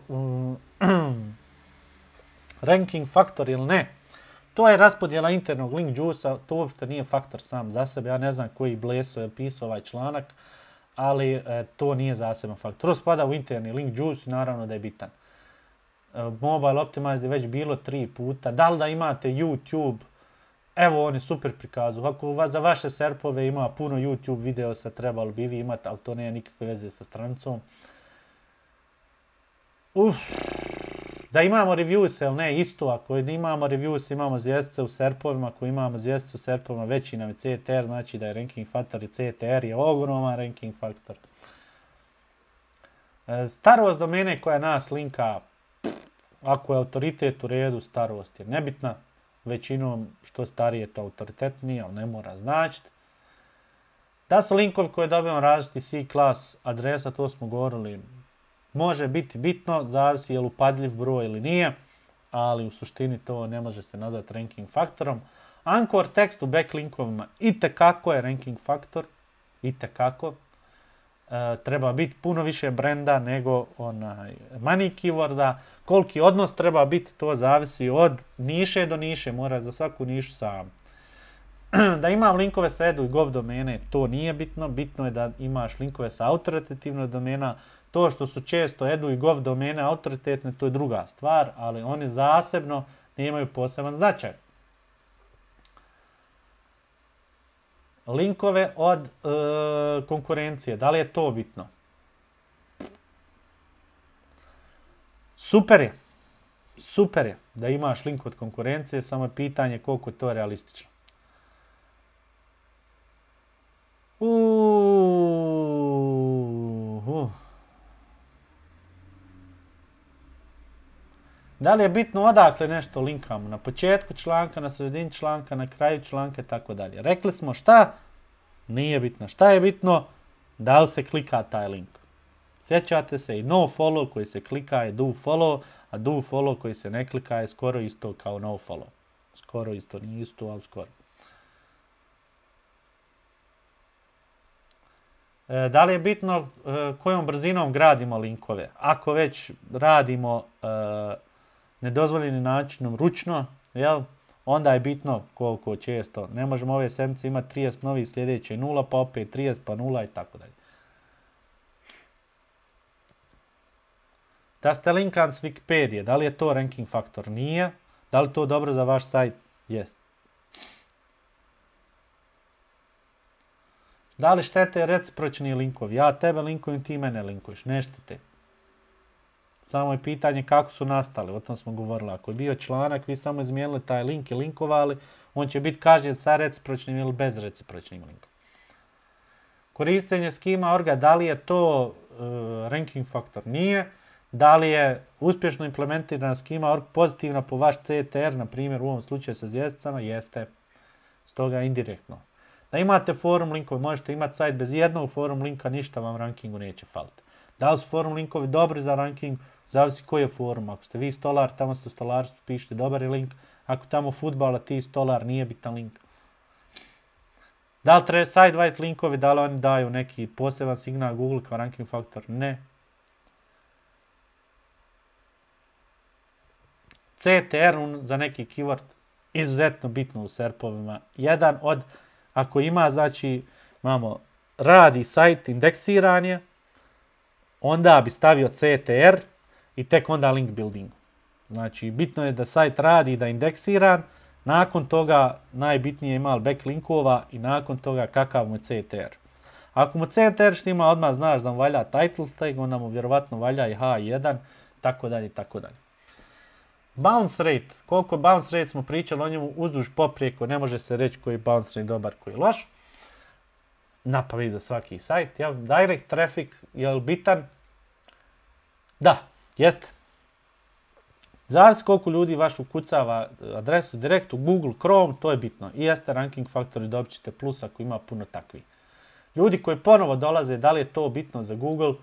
ranking faktor ili ne, to je raspodjela internog link juice-a, to uopšte nije faktor sam za sebe. Ja ne znam koji bleso je pisao ovaj članak, ali to nije zaseban faktor. To spada u interni link juice, naravno da je bitan. Mobile Optimize je već bilo 3 puta. Da li da imate YouTube? Evo on je super prikazu. Ako za vaše serpove ima puno YouTube videosa, trebalo bi vi imati, ali to nema nikakve veze sa stranicom. Da imamo reviews, ili ne, isto. Ako imamo reviews, imamo zvjezdice u serpovima. Ako imamo zvjezdice u serpovima, veći nam je CTR, znači da je ranking faktor i CTR je ogroman ranking faktor. Starost domene koja nas linka, ako je autoritet u redu, starost je nebitna. Većinom što starije to autoritetnije, ali ne mora značiti. Da su linkovi koje dobijamo različiti C-class adresa, to smo govorili, može biti bitno, zavisi je li upadljiv broj ili nije, ali u suštini to ne može se nazvati ranking faktorom. Anchor tekst u backlinkovima itekako je ranking faktor, itekako. Treba biti puno više brenda nego money keyworda. Koliki odnos treba biti, to zavisi od niše do niše, mora za svaku nišu sam. Da imam linkove sa edu i gov domene, to nije bitno. Bitno je da imaš linkove sa autoritativnog domena. To što su često edu i gov domene autoritetne, to je druga stvar, ali oni zasebno nemaju poseban značaj. Linkove od konkurencije, da li je to bitno? Super je da imaš link od konkurencije, samo je pitanje koliko je to realistično. Da li je bitno odakle nešto linkamo? Na početku članka, na sredini članka, na kraju članka i tako dalje. Rekli smo šta? Nije bitno. Šta je bitno? Da li se klika taj link? Sjećate se i no follow koji se klika je do follow, a do follow koji se ne klika je skoro isto kao no follow. Skoro isto, nije isto, ali skoro. Da li je bitno kojom brzinom gradimo linkove? Ako već radimo nedozvoljenim načinom ručno, onda je bitno koliko često. Ne možemo ove sedmice imati 30 novi, sljedeće 0, pa opet 30, pa 0 i tako dalje. Da ste linkan s Wikipedije, da li je to ranking faktor? Nije. Da li to dobro za vaš sajt? Jest. Da li štete recipročni linkovi? Ja tebe linkujem, ti mene linkuješ. Ne štete. Samo je pitanje kako su nastali, o tom smo govorili. Ako je bio članak, vi samo izmijenili taj link i linkovali, on će biti kažnjen sa recipročnim ili bez recipročnim linkom. Korištenje schema.org, da li je to ranking faktor? Nije. Da li je uspješno implementirana schema.org pozitivna po vaš CTR, na primjer u ovom slučaju sa zvijezdicama? Jeste. Stoga indirektno. Da imate forum linkove, možete imati sajt bez jednog forum linka, ništa vam rankingu neće faliti. Da li su forum linkovi dobri za ranking? Zavisi koji je forum. Ako ste vi stolar, tamo ste u stolarstvu, pišite dobar je link. Ako tamo fudbala, ti stolar, nije bitan link. Da li treba side-white linkovi, da li oni daju neki poseban signal Google kao ranking faktor? Ne. CTR za neki keyword izuzetno bitno u SERP-ovima. Jedan od, ako ima, znači, imamo radi sajt indeksiranje, onda bi stavio CTR i tek onda link building. Znači, bitno je da sajt radi i da je indeksiran, nakon toga najbitnije ima backlinkova i nakon toga kakav mu je CTR. Ako mu CTR štima, odmah znaš da mu valja title tag, onda mu vjerovatno valja i H1, tako dalje, tako dalje. Bounce rate, koliko bounce rate smo pričali o njemu uzduž poprijeko, ne može se reći koji je bounce rate dobar, koji je loš. Napamet za svaki sajt, jel? Direct traffic, je li bitan? Da, jeste. Zavisi koliko ljudi vaš ukucava adresu direkt u Google Chrome, to je bitno. I jeste ranking faktor i dobit ćete plus ako ima puno takvih. Ljudi koji ponovo dolaze, da li je to bitno za Google?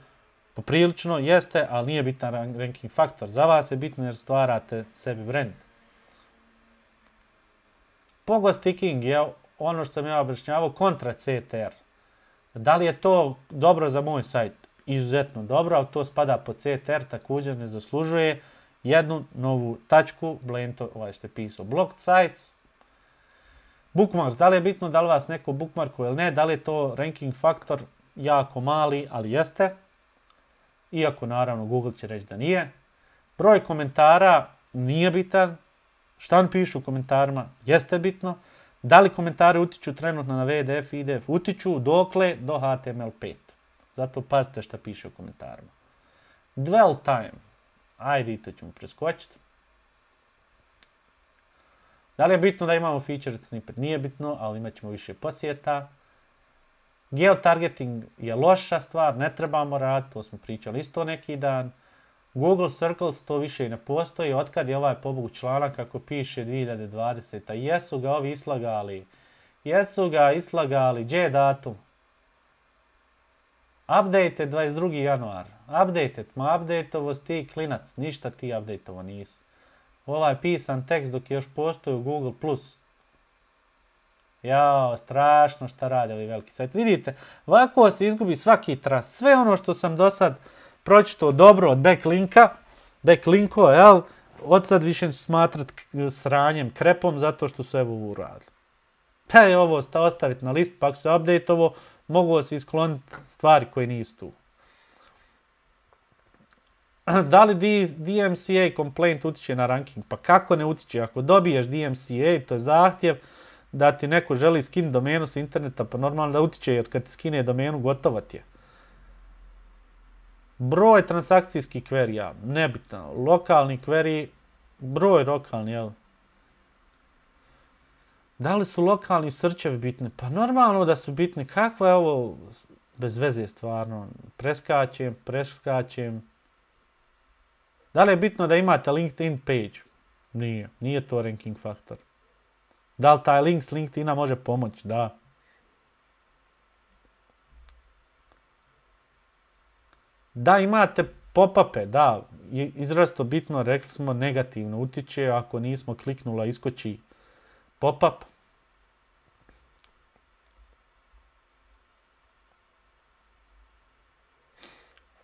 Poprilično jeste, ali nije bitan ranking faktor. Za vas je bitno jer stvarate sebi brand. Pogo sticking je ono što sam ja objašnjavao kontra CTR. Da li je to dobro za moj sajt? Izuzetno dobro, ali to spada po CTR, također ne zaslužuje jednu novu tačku, Blento, ovaj što je pisao, blocked sites. Bookmarks, da li je bitno da li vas neko bookmarkuje ili ne, da li je to ranking faktor jako mali, ali jeste. Iako naravno Google će reći da nije. Broj komentara nije bitan. Šta on piše u komentarima jeste bitno. Da li komentari utiču trenutno na VDF, IDF? Utiču dokle do HTML5. Zato pazite šta piše u komentarima. Dwell time. Ajde, i to ćemo preskočiti. Da li je bitno da imamo featured snippet? Nije bitno, ali imat ćemo više posjeta. Geotargeting je loša stvar, ne trebamo raditi, to smo pričali isto neki dan. Google Circles to više i ne postoji, otkad je ovaj pobogu članak kako piše 2020. Jesu ga ovi islagali, gdje je datum? Update 22. januar, update-ovo ti klinac, ništa ti update-ovo nisi. Ovaj pisan tekst dok je još postoji u Google+. Jao, strašno šta rade ovi veliki sajt. Vidite, ovako se izgubi svaki trust. Sve ono što sam do sad pročitao dobro od backlinkova, jel? Od sad više ću smatrat sranjem, krepom, zato što su evo ovo uradili. Pa je ovo ostaviti na list, pa ako se update-ovo, mogu se iskloniti stvari koje nisu tu. Da li DMCA complaint utiče na ranking? Pa kako ne utiče? Ako dobiješ DMCA, to je zahtjev da ti neko želi skin domenu s interneta, pa normalno da utiče, jer kad ti skine domenu, gotovo ti je. Broj transakcijskih query-a, nebitno. Lokalni query, broj lokalni, jel? Da li su lokalni searchevi bitni? Pa normalno da su bitni. Kakva je ovo bez veze stvarno? Preskačem. Da li je bitno da imate LinkedIn page? Nije to ranking faktor. Da li taj link s LinkedIna može pomoći? Da. Da imate pop-upe, da, izrazito bitno, rekli smo negativno utiče, ako nismo kliknula iskoči pop-up.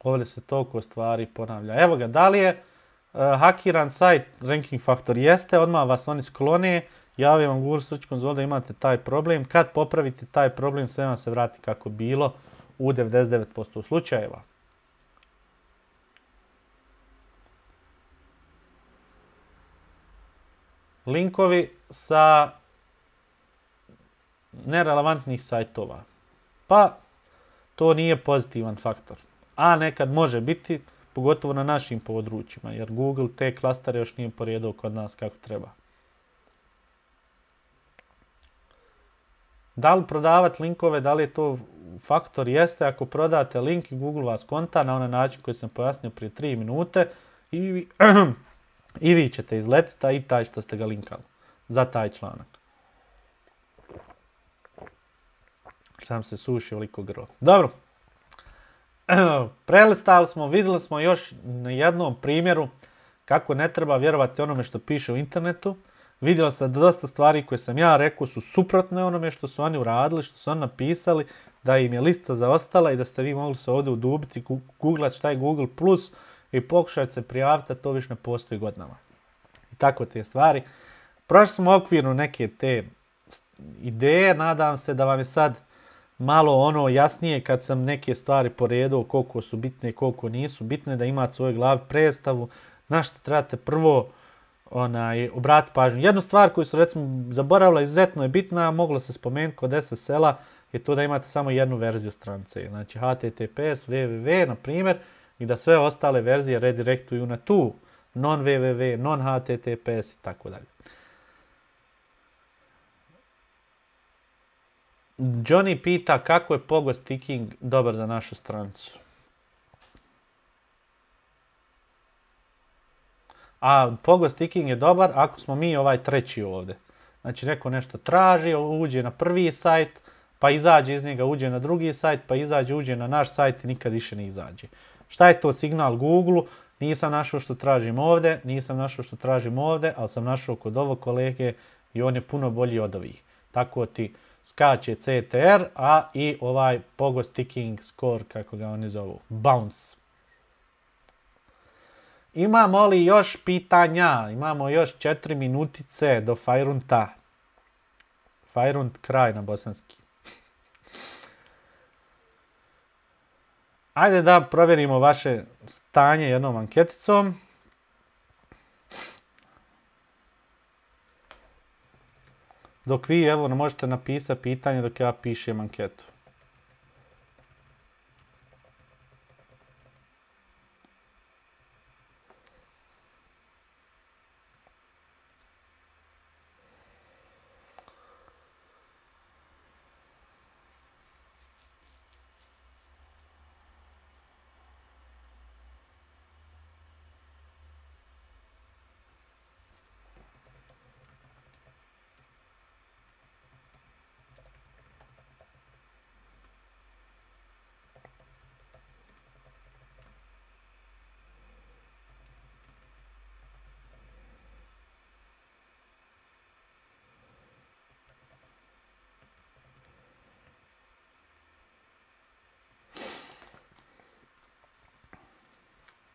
Ovdje se toliko stvari ponavlja. Evo ga, da li je hakiran sajt ranking faktor? Jeste, odmah vas oni sklone, javim vam Google Search Console da imate taj problem. Kad popravite taj problem, sve vam se vrati kako bilo u 99% slučajeva. linkovi sa nerelevantnih sajtova. Pa to nije pozitivan faktor. A nekad može biti, pogotovo na našim područjima, jer Google te klastere još nije poredao kod nas kako treba. Da li prodavati linkove, da li je to faktor? Jeste, ako prodate link i Google vas konta na onaj način koji sam pojasnio prije 3 minute i vi ćete izletiti, a i taj što ste ga linkali za taj članak. Sam se sušio liko grlo. Dobro. Prelistali smo, vidjeli smo još na jednom primjeru kako ne treba vjerovati onome što piše u internetu. Vidjeli ste da dosta stvari koje sam ja rekao su suprotne onome što su oni uradili, što su oni napisali, da im je lista zaostala i da ste vi mogli se ovdje udubiti, googlati šta je Google Plus i pokušati se prijaviti, a to više ne postoji godinama. I tako te stvari. Prošli smo okvirno neke te ideje, nadam se da vam je sad malo ono jasnije kad sam neke stvari poredao koliko su bitne i koliko nisu bitne, da imate svoj glavi predstavu na što trebate prvo obratiti pažnju. Jednu stvar koju su recimo zaboravila, izuzetno je bitna, moglo se spomenuti kod SSL-a, je to da imate samo jednu verziju stranice. Znači HTTPS, www, na primjer, i da sve ostale verzije redirektuju na tu non-www, non-HTTPS i tako dalje. Johnny pita kako je pogo sticking dobar za našu stranicu. A pogo sticking je dobar ako smo mi ovaj treći ovdje. Znači neko nešto traži, uđe na prvi sajt, pa izađe iz njega, uđe na drugi sajt, pa uđe na naš sajt i nikad više ne izađe. Šta je to signal Google-u? Nisam našao što tražim ovdje, ali sam našao kod ovog kolege i on je puno bolji od ovih. Tako ti skače CTR, a i ovaj pogo sticking score, kako ga oni zovu, bounce. Imamo li još pitanja? Imamo još 4 minutice do Fajrunta. Fajrunt kraj na bosanski. Ajde da provjerimo vaše stanje jednom anketicom. Dok vi, evo, možete napisati pitanje dok ja pišem anketu.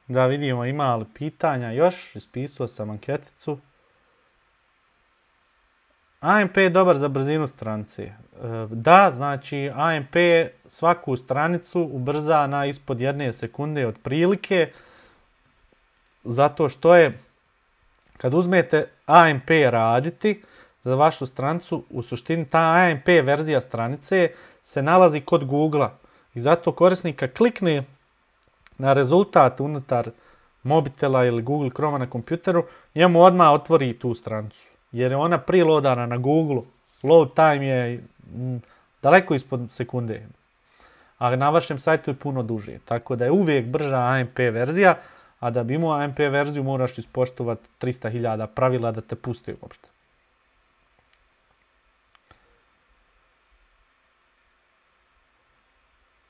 Da vidimo ima li pitanja još, ispisao sam anketicu. AMP je dobar za brzinu stranice. Da, znači AMP svaku stranicu ubrza na ispod 1 sekunde otprilike, zato što je, kad uzmete AMP raditi za vašu stranicu, u suštini ta AMP verzija stranice se nalazi kod Google-a i zato korisnika klikne na rezultat unutar mobitela ili Google Chroma na kompjuteru, njemu odmah otvori tu stranicu. Jer je ona preloadana na Google. Load time je daleko ispod sekunde. A na vašem sajtu je puno duže. Tako da je uvijek brža AMP verzija, a da bi imao AMP verziju moraš ispoštovati 300.000 pravila da te pusti uopšte.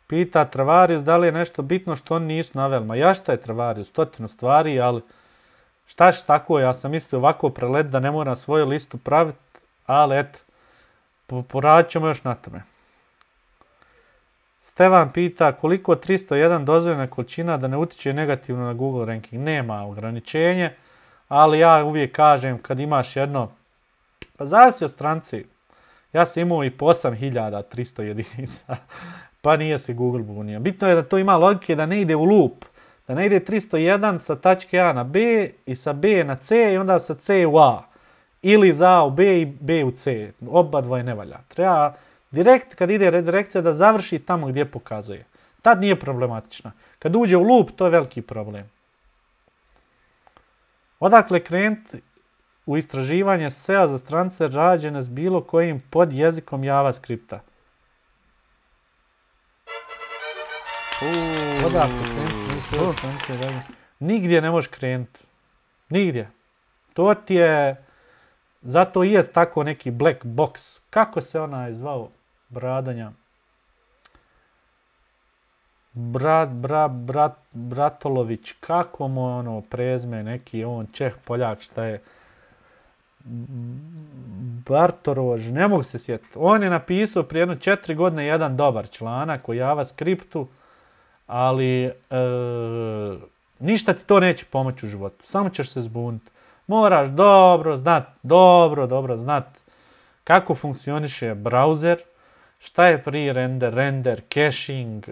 Pita Travarius da li je nešto bitno što oni nisu naveli. Ma ja šta je Travarius? 100 stvari, ali šta će tako? Ja sam mislio ovako prelet da ne moram svoju listu praviti, ali eto, poradit ćemo još na tome. Stevan pita koliko 301 dozvoljena količina da ne utiče negativno na Google ranking. Nema ograničenje, ali ja uvijek kažem kad imaš jedno, pa zavisi od stranici. Ja sam imao i po 8300 jedinica. Pa nije se Google bunio. Bitno je da to ima logike da ne ide u loop. Da ne ide 301 sa tačke A na B i sa B na C i onda sa C u A. ili za A u B i B u C. Oba dvoje ne valja. Treba direkt, kad ide redirekcija, da završi tamo gdje pokazuje. Tad nije problematična. Kad uđe u loop, to je veliki problem. Odakle krenuti u istraživanje SEO za stranice rađene s bilo kojim podjezikom JavaScripta? Odakle krenuti? Nigdje ne možeš krenuti. Nigdje. To ti je... Zato i jest tako neki black box. Kako se onaj zvao? Bradanja. Bratolović. Kako mu ono prezme neki on Čeh Poljak šta je? Bartorož. Ne mogu se sjetiti. On je napisao prije 4 godine jedan dobar članak o JavaScriptu, ali ništa ti to neće pomoći u životu. Samo ćeš se zbuniti. Moraš dobro znat kako funkcioniše browser, šta je pre-render, render, caching.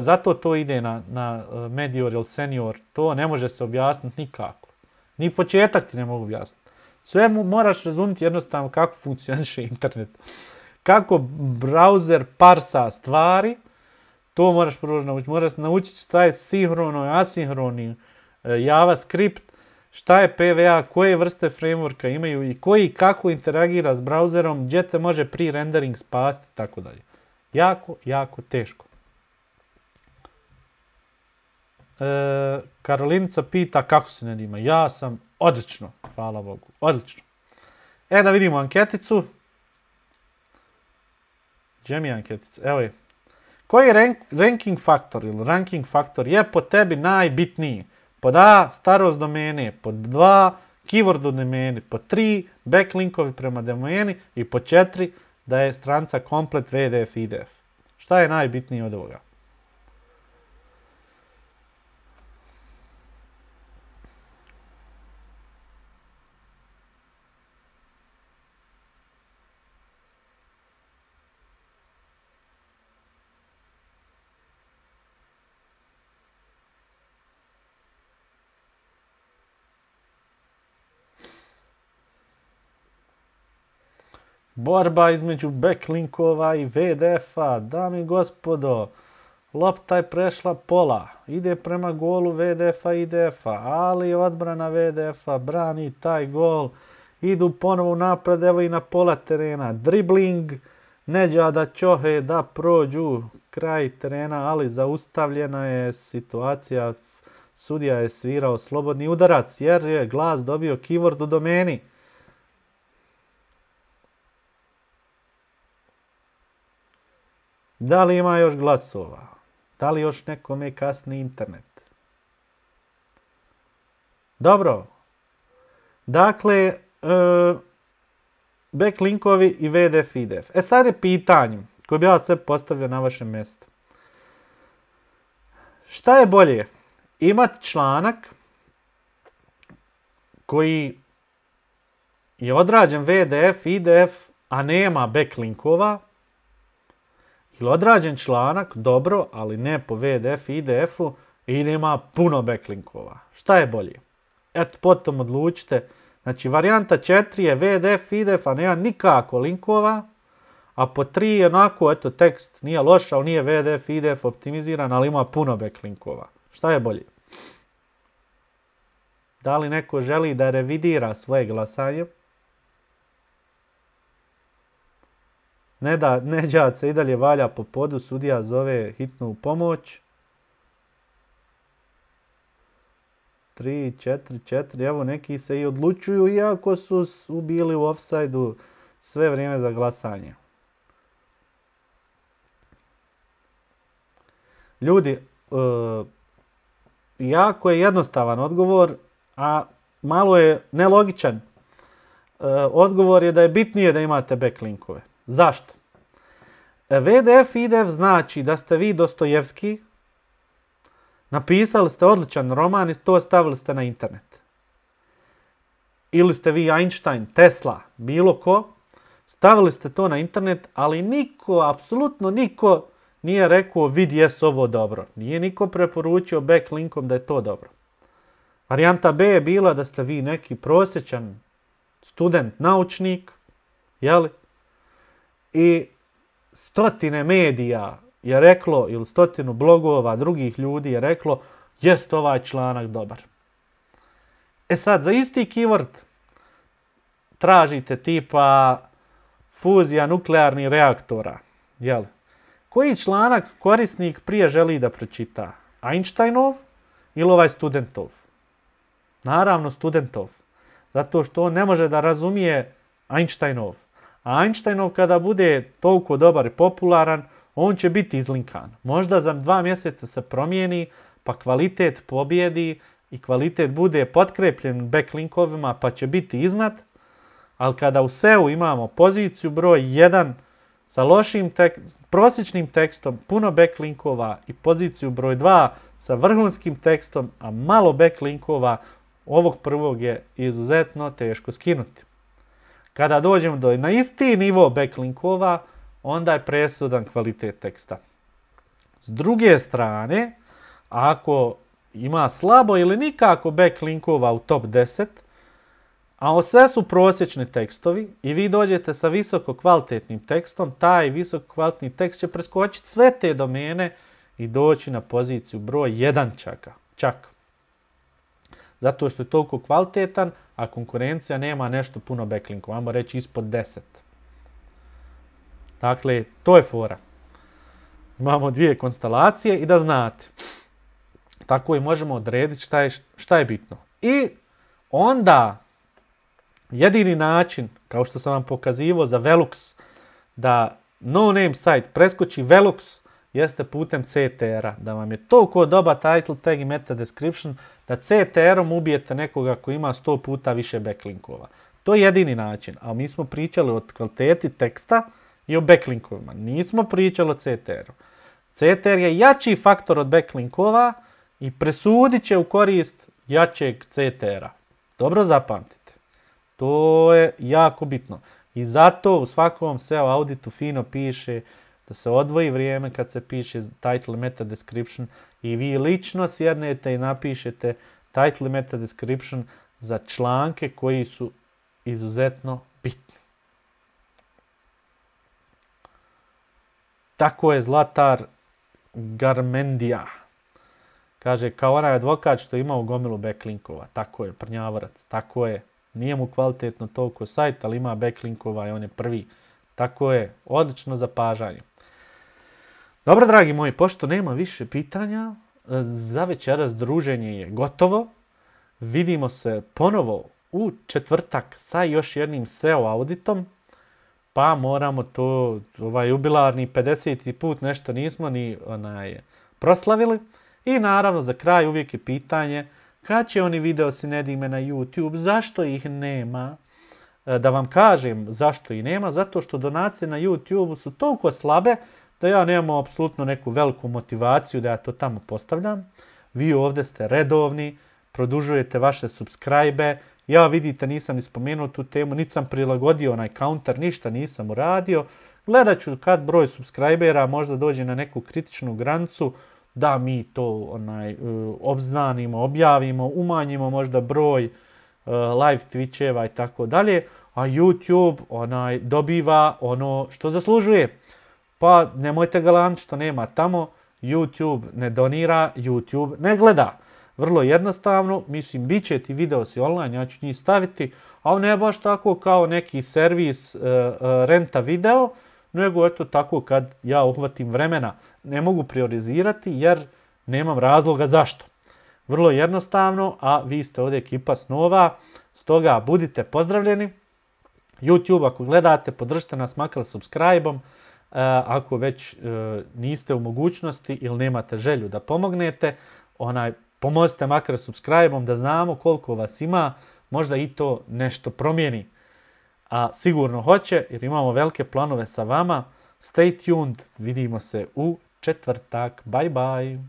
Zato to ide na Medior ili Senior. To ne može se objasniti nikako. Ni početak ti ne mogu objasniti. Sve moraš razumjeti jednostavno kako funkcioniše internet. Kako browser parsa stvari, to moraš prvo naučiti. Moraš naučiti šta je sinhrono i asinhroni JavaScript, šta je PWA, koje vrste frameworka imaju i koji kako interagira s browserom, gdje te može pre-rendering spasti i tako dalje. Jako teško. Karolinica pita kako se Nedima. Ja sam odlično, hvala Bogu, odlično. Da vidimo anketicu. Gdje mi je anketica? Evo je. Koji ranking faktor ili ranking faktor je po tebi najbitniji? Pod A, starost domene, pod 2, keyword u domeni, pod 3, backlinkovi prema domeni i pod 4, da je stranica komplet VDF IDF. Šta je najbitnije od ovoga? Borba između backlinkova i VDF-a, dame i gospodo, lopta je prešla pola, ide prema golu VDF-a i IDF-a, ali odbrana VDF-a brani taj gol, idu ponovo napred, evo i na pola terena, dribling, Neđada Ćohe da prođu kraj terena, ali zaustavljena je situacija, sudija je svirao slobodni udarac jer je glas dobio keyword u domeni. Da li ima još glasova? Da li još nekome kasni internet? Dobro. Dakle, backlinkovi i VDF IDF. Sad je pitanje koje bi ja sve postavio na vašem mjestu. Šta je bolje? Imati članak koji je odrađen VDF IDF, a nema backlinkova, ili odrađen članak, dobro, ali ne po VDF i IDF-u i ima puno backlinkova. Šta je bolje? Eto, potom odlučite. Znači, varijanta 4 je VDF, IDF, a nema nikako linkova, a po 3 je onako, eto, tekst nije loš, ali nije VDF, IDF optimiziran, ali ima puno backlinkova. Šta je bolje? Da li neko želi da revidira svoje glasanje? Neđad se i dalje valja po podu, sudija zove hitnu pomoć. 3, 4, evo neki se i odlučuju iako su bili u ofsajdu sve vrijeme za glasanje. Ljudi, jako je jednostavan odgovor, a malo je nelogičan. Odgovor je da je bitnije da imate backlinkove. Zašto? VDF IDF znači da ste vi Dostojevski, napisali ste odličan roman i to stavili ste na internet. Ili ste vi Einstein, Tesla, bilo ko, stavili ste to na internet, ali niko, apsolutno niko nije rekao vidi jes ovo dobro. Nije niko preporučio backlinkom da je to dobro. Varijanta B je bila da ste vi neki prosječan student, naučnik, jeli? I stotine medija je reklo, ili stotinu blogova drugih ljudi je reklo, jest ovaj članak dobar. E sad, za isti keyword tražite tipa fuzija nuklearnih reaktora, jeli? Koji članak korisnik prije želi da pročita? Einsteinov ili ovaj studentov? Naravno studentov. Zato što on ne može da razumije Einsteinov. A Einsteinov kada bude toliko dobar i popularan, on će biti izlinkan. Možda za 2 mjeseca se promijeni, pa kvalitet pobjedi i kvalitet bude potkrepljen backlinkovima, pa će biti iznad. Ali kada u SEO imamo poziciju broj 1 sa prosječnim tekstom, puno backlinkova i poziciju broj 2 sa vrhunskim tekstom, a malo backlinkova, ovog prvog je izuzetno teško skinuti. Kada dođemo na isti nivo backlinkova, onda je presudan kvalitet teksta. S druge strane, ako ima slabo ili nikako backlinkova u top 10, a sve su prosječni tekstovi i vi dođete sa visoko kvalitetnim tekstom, taj visoko kvalitetni tekst će preskočiti sve te domene i doći na poziciju broj 1 čak. Zato što je toliko kvalitetan, a konkurencija nema nešto puno backlinkova, ajmo reći ispod 10. Dakle, to je fora. Imamo 2 konstelacije i da znate. Tako i možemo odrediti šta je bitno. I onda jedini način, kao što sam vam pokazivao za Velux, da no-name site preskoči Velux, jeste putem CTR-a. Da vam je toliko dobar title tag i meta description, da CTR-om ubijete nekoga koji ima 100 puta više backlinkova. To je jedini način. A mi smo pričali o kvaliteti teksta i o backlinkovima. Nismo pričali o CTR-u. CTR je jači faktor od backlinkova i presudit će u korist jačeg CTR-a. Dobro zapamtite. To je jako bitno. I zato u svakom SEO auditu fino piše da se odvoji vrijeme kad se piše title meta description i vi lično sjednete i napišete title meta description za članke koji su izuzetno bitni. Tako je Zlatar Garmendija. Kaže, kao onaj advokat što ima u gomilu backlinkova. Tako je, prnjavorac. Tako je. Nije mu kvalitetno toliko sajt, ali ima backlinkova i on je prvi. Tako je. Odlično zapažanje. Dobro, dragi moji, pošto nema više pitanja, za večeras druženje je gotovo. Vidimo se ponovo u četvrtak sa još jednim SEO auditom. Pa moramo to, jubilarni 50. put nešto nismo ni proslavili. I naravno za kraj uvijek je pitanje kad će oni video sinedime na YouTube, zašto ih nema? Da vam kažem zašto ih nema, zato što donacije na YouTube su toliko slabe da ja nemam apsolutno neku veliku motivaciju da ja to tamo postavljam. Vi ovdje ste redovni, produžujete vaše subscribe. Ja vidite nisam ni spomenuo tu temu, niti sam prilagodio onaj counter, ništa nisam uradio. Gledat ću kad broj subscribera možda dođe na neku kritičnu granicu, da mi to obznanimo, objavimo, umanjimo možda broj live Twitcheva i tako dalje, a YouTube dobiva ono što zaslužuje. Pa nemojte galamiti što nema tamo, YouTube ne donira, YouTube ne gleda. Vrlo jednostavno, mislim, bit će ti videosi online, ja ću njih staviti, ali ne baš tako kao neki servis renta video, nego eto tako kad ja uhvatim vremena. Ne mogu priorizirati jer nemam razloga zašto. Vrlo jednostavno, a vi ste ovdje ekipa snova, stoga budite pozdravljeni. YouTube ako gledate, podržite nas makar subscribe-om. Ako već niste u mogućnosti ili nemate želju da pomognete, pomozite makar subscribe-om da znamo koliko vas ima, možda i to nešto promijeni. A sigurno hoće jer imamo velike planove sa vama. Stay tuned, vidimo se u četvrtak. Bye bye.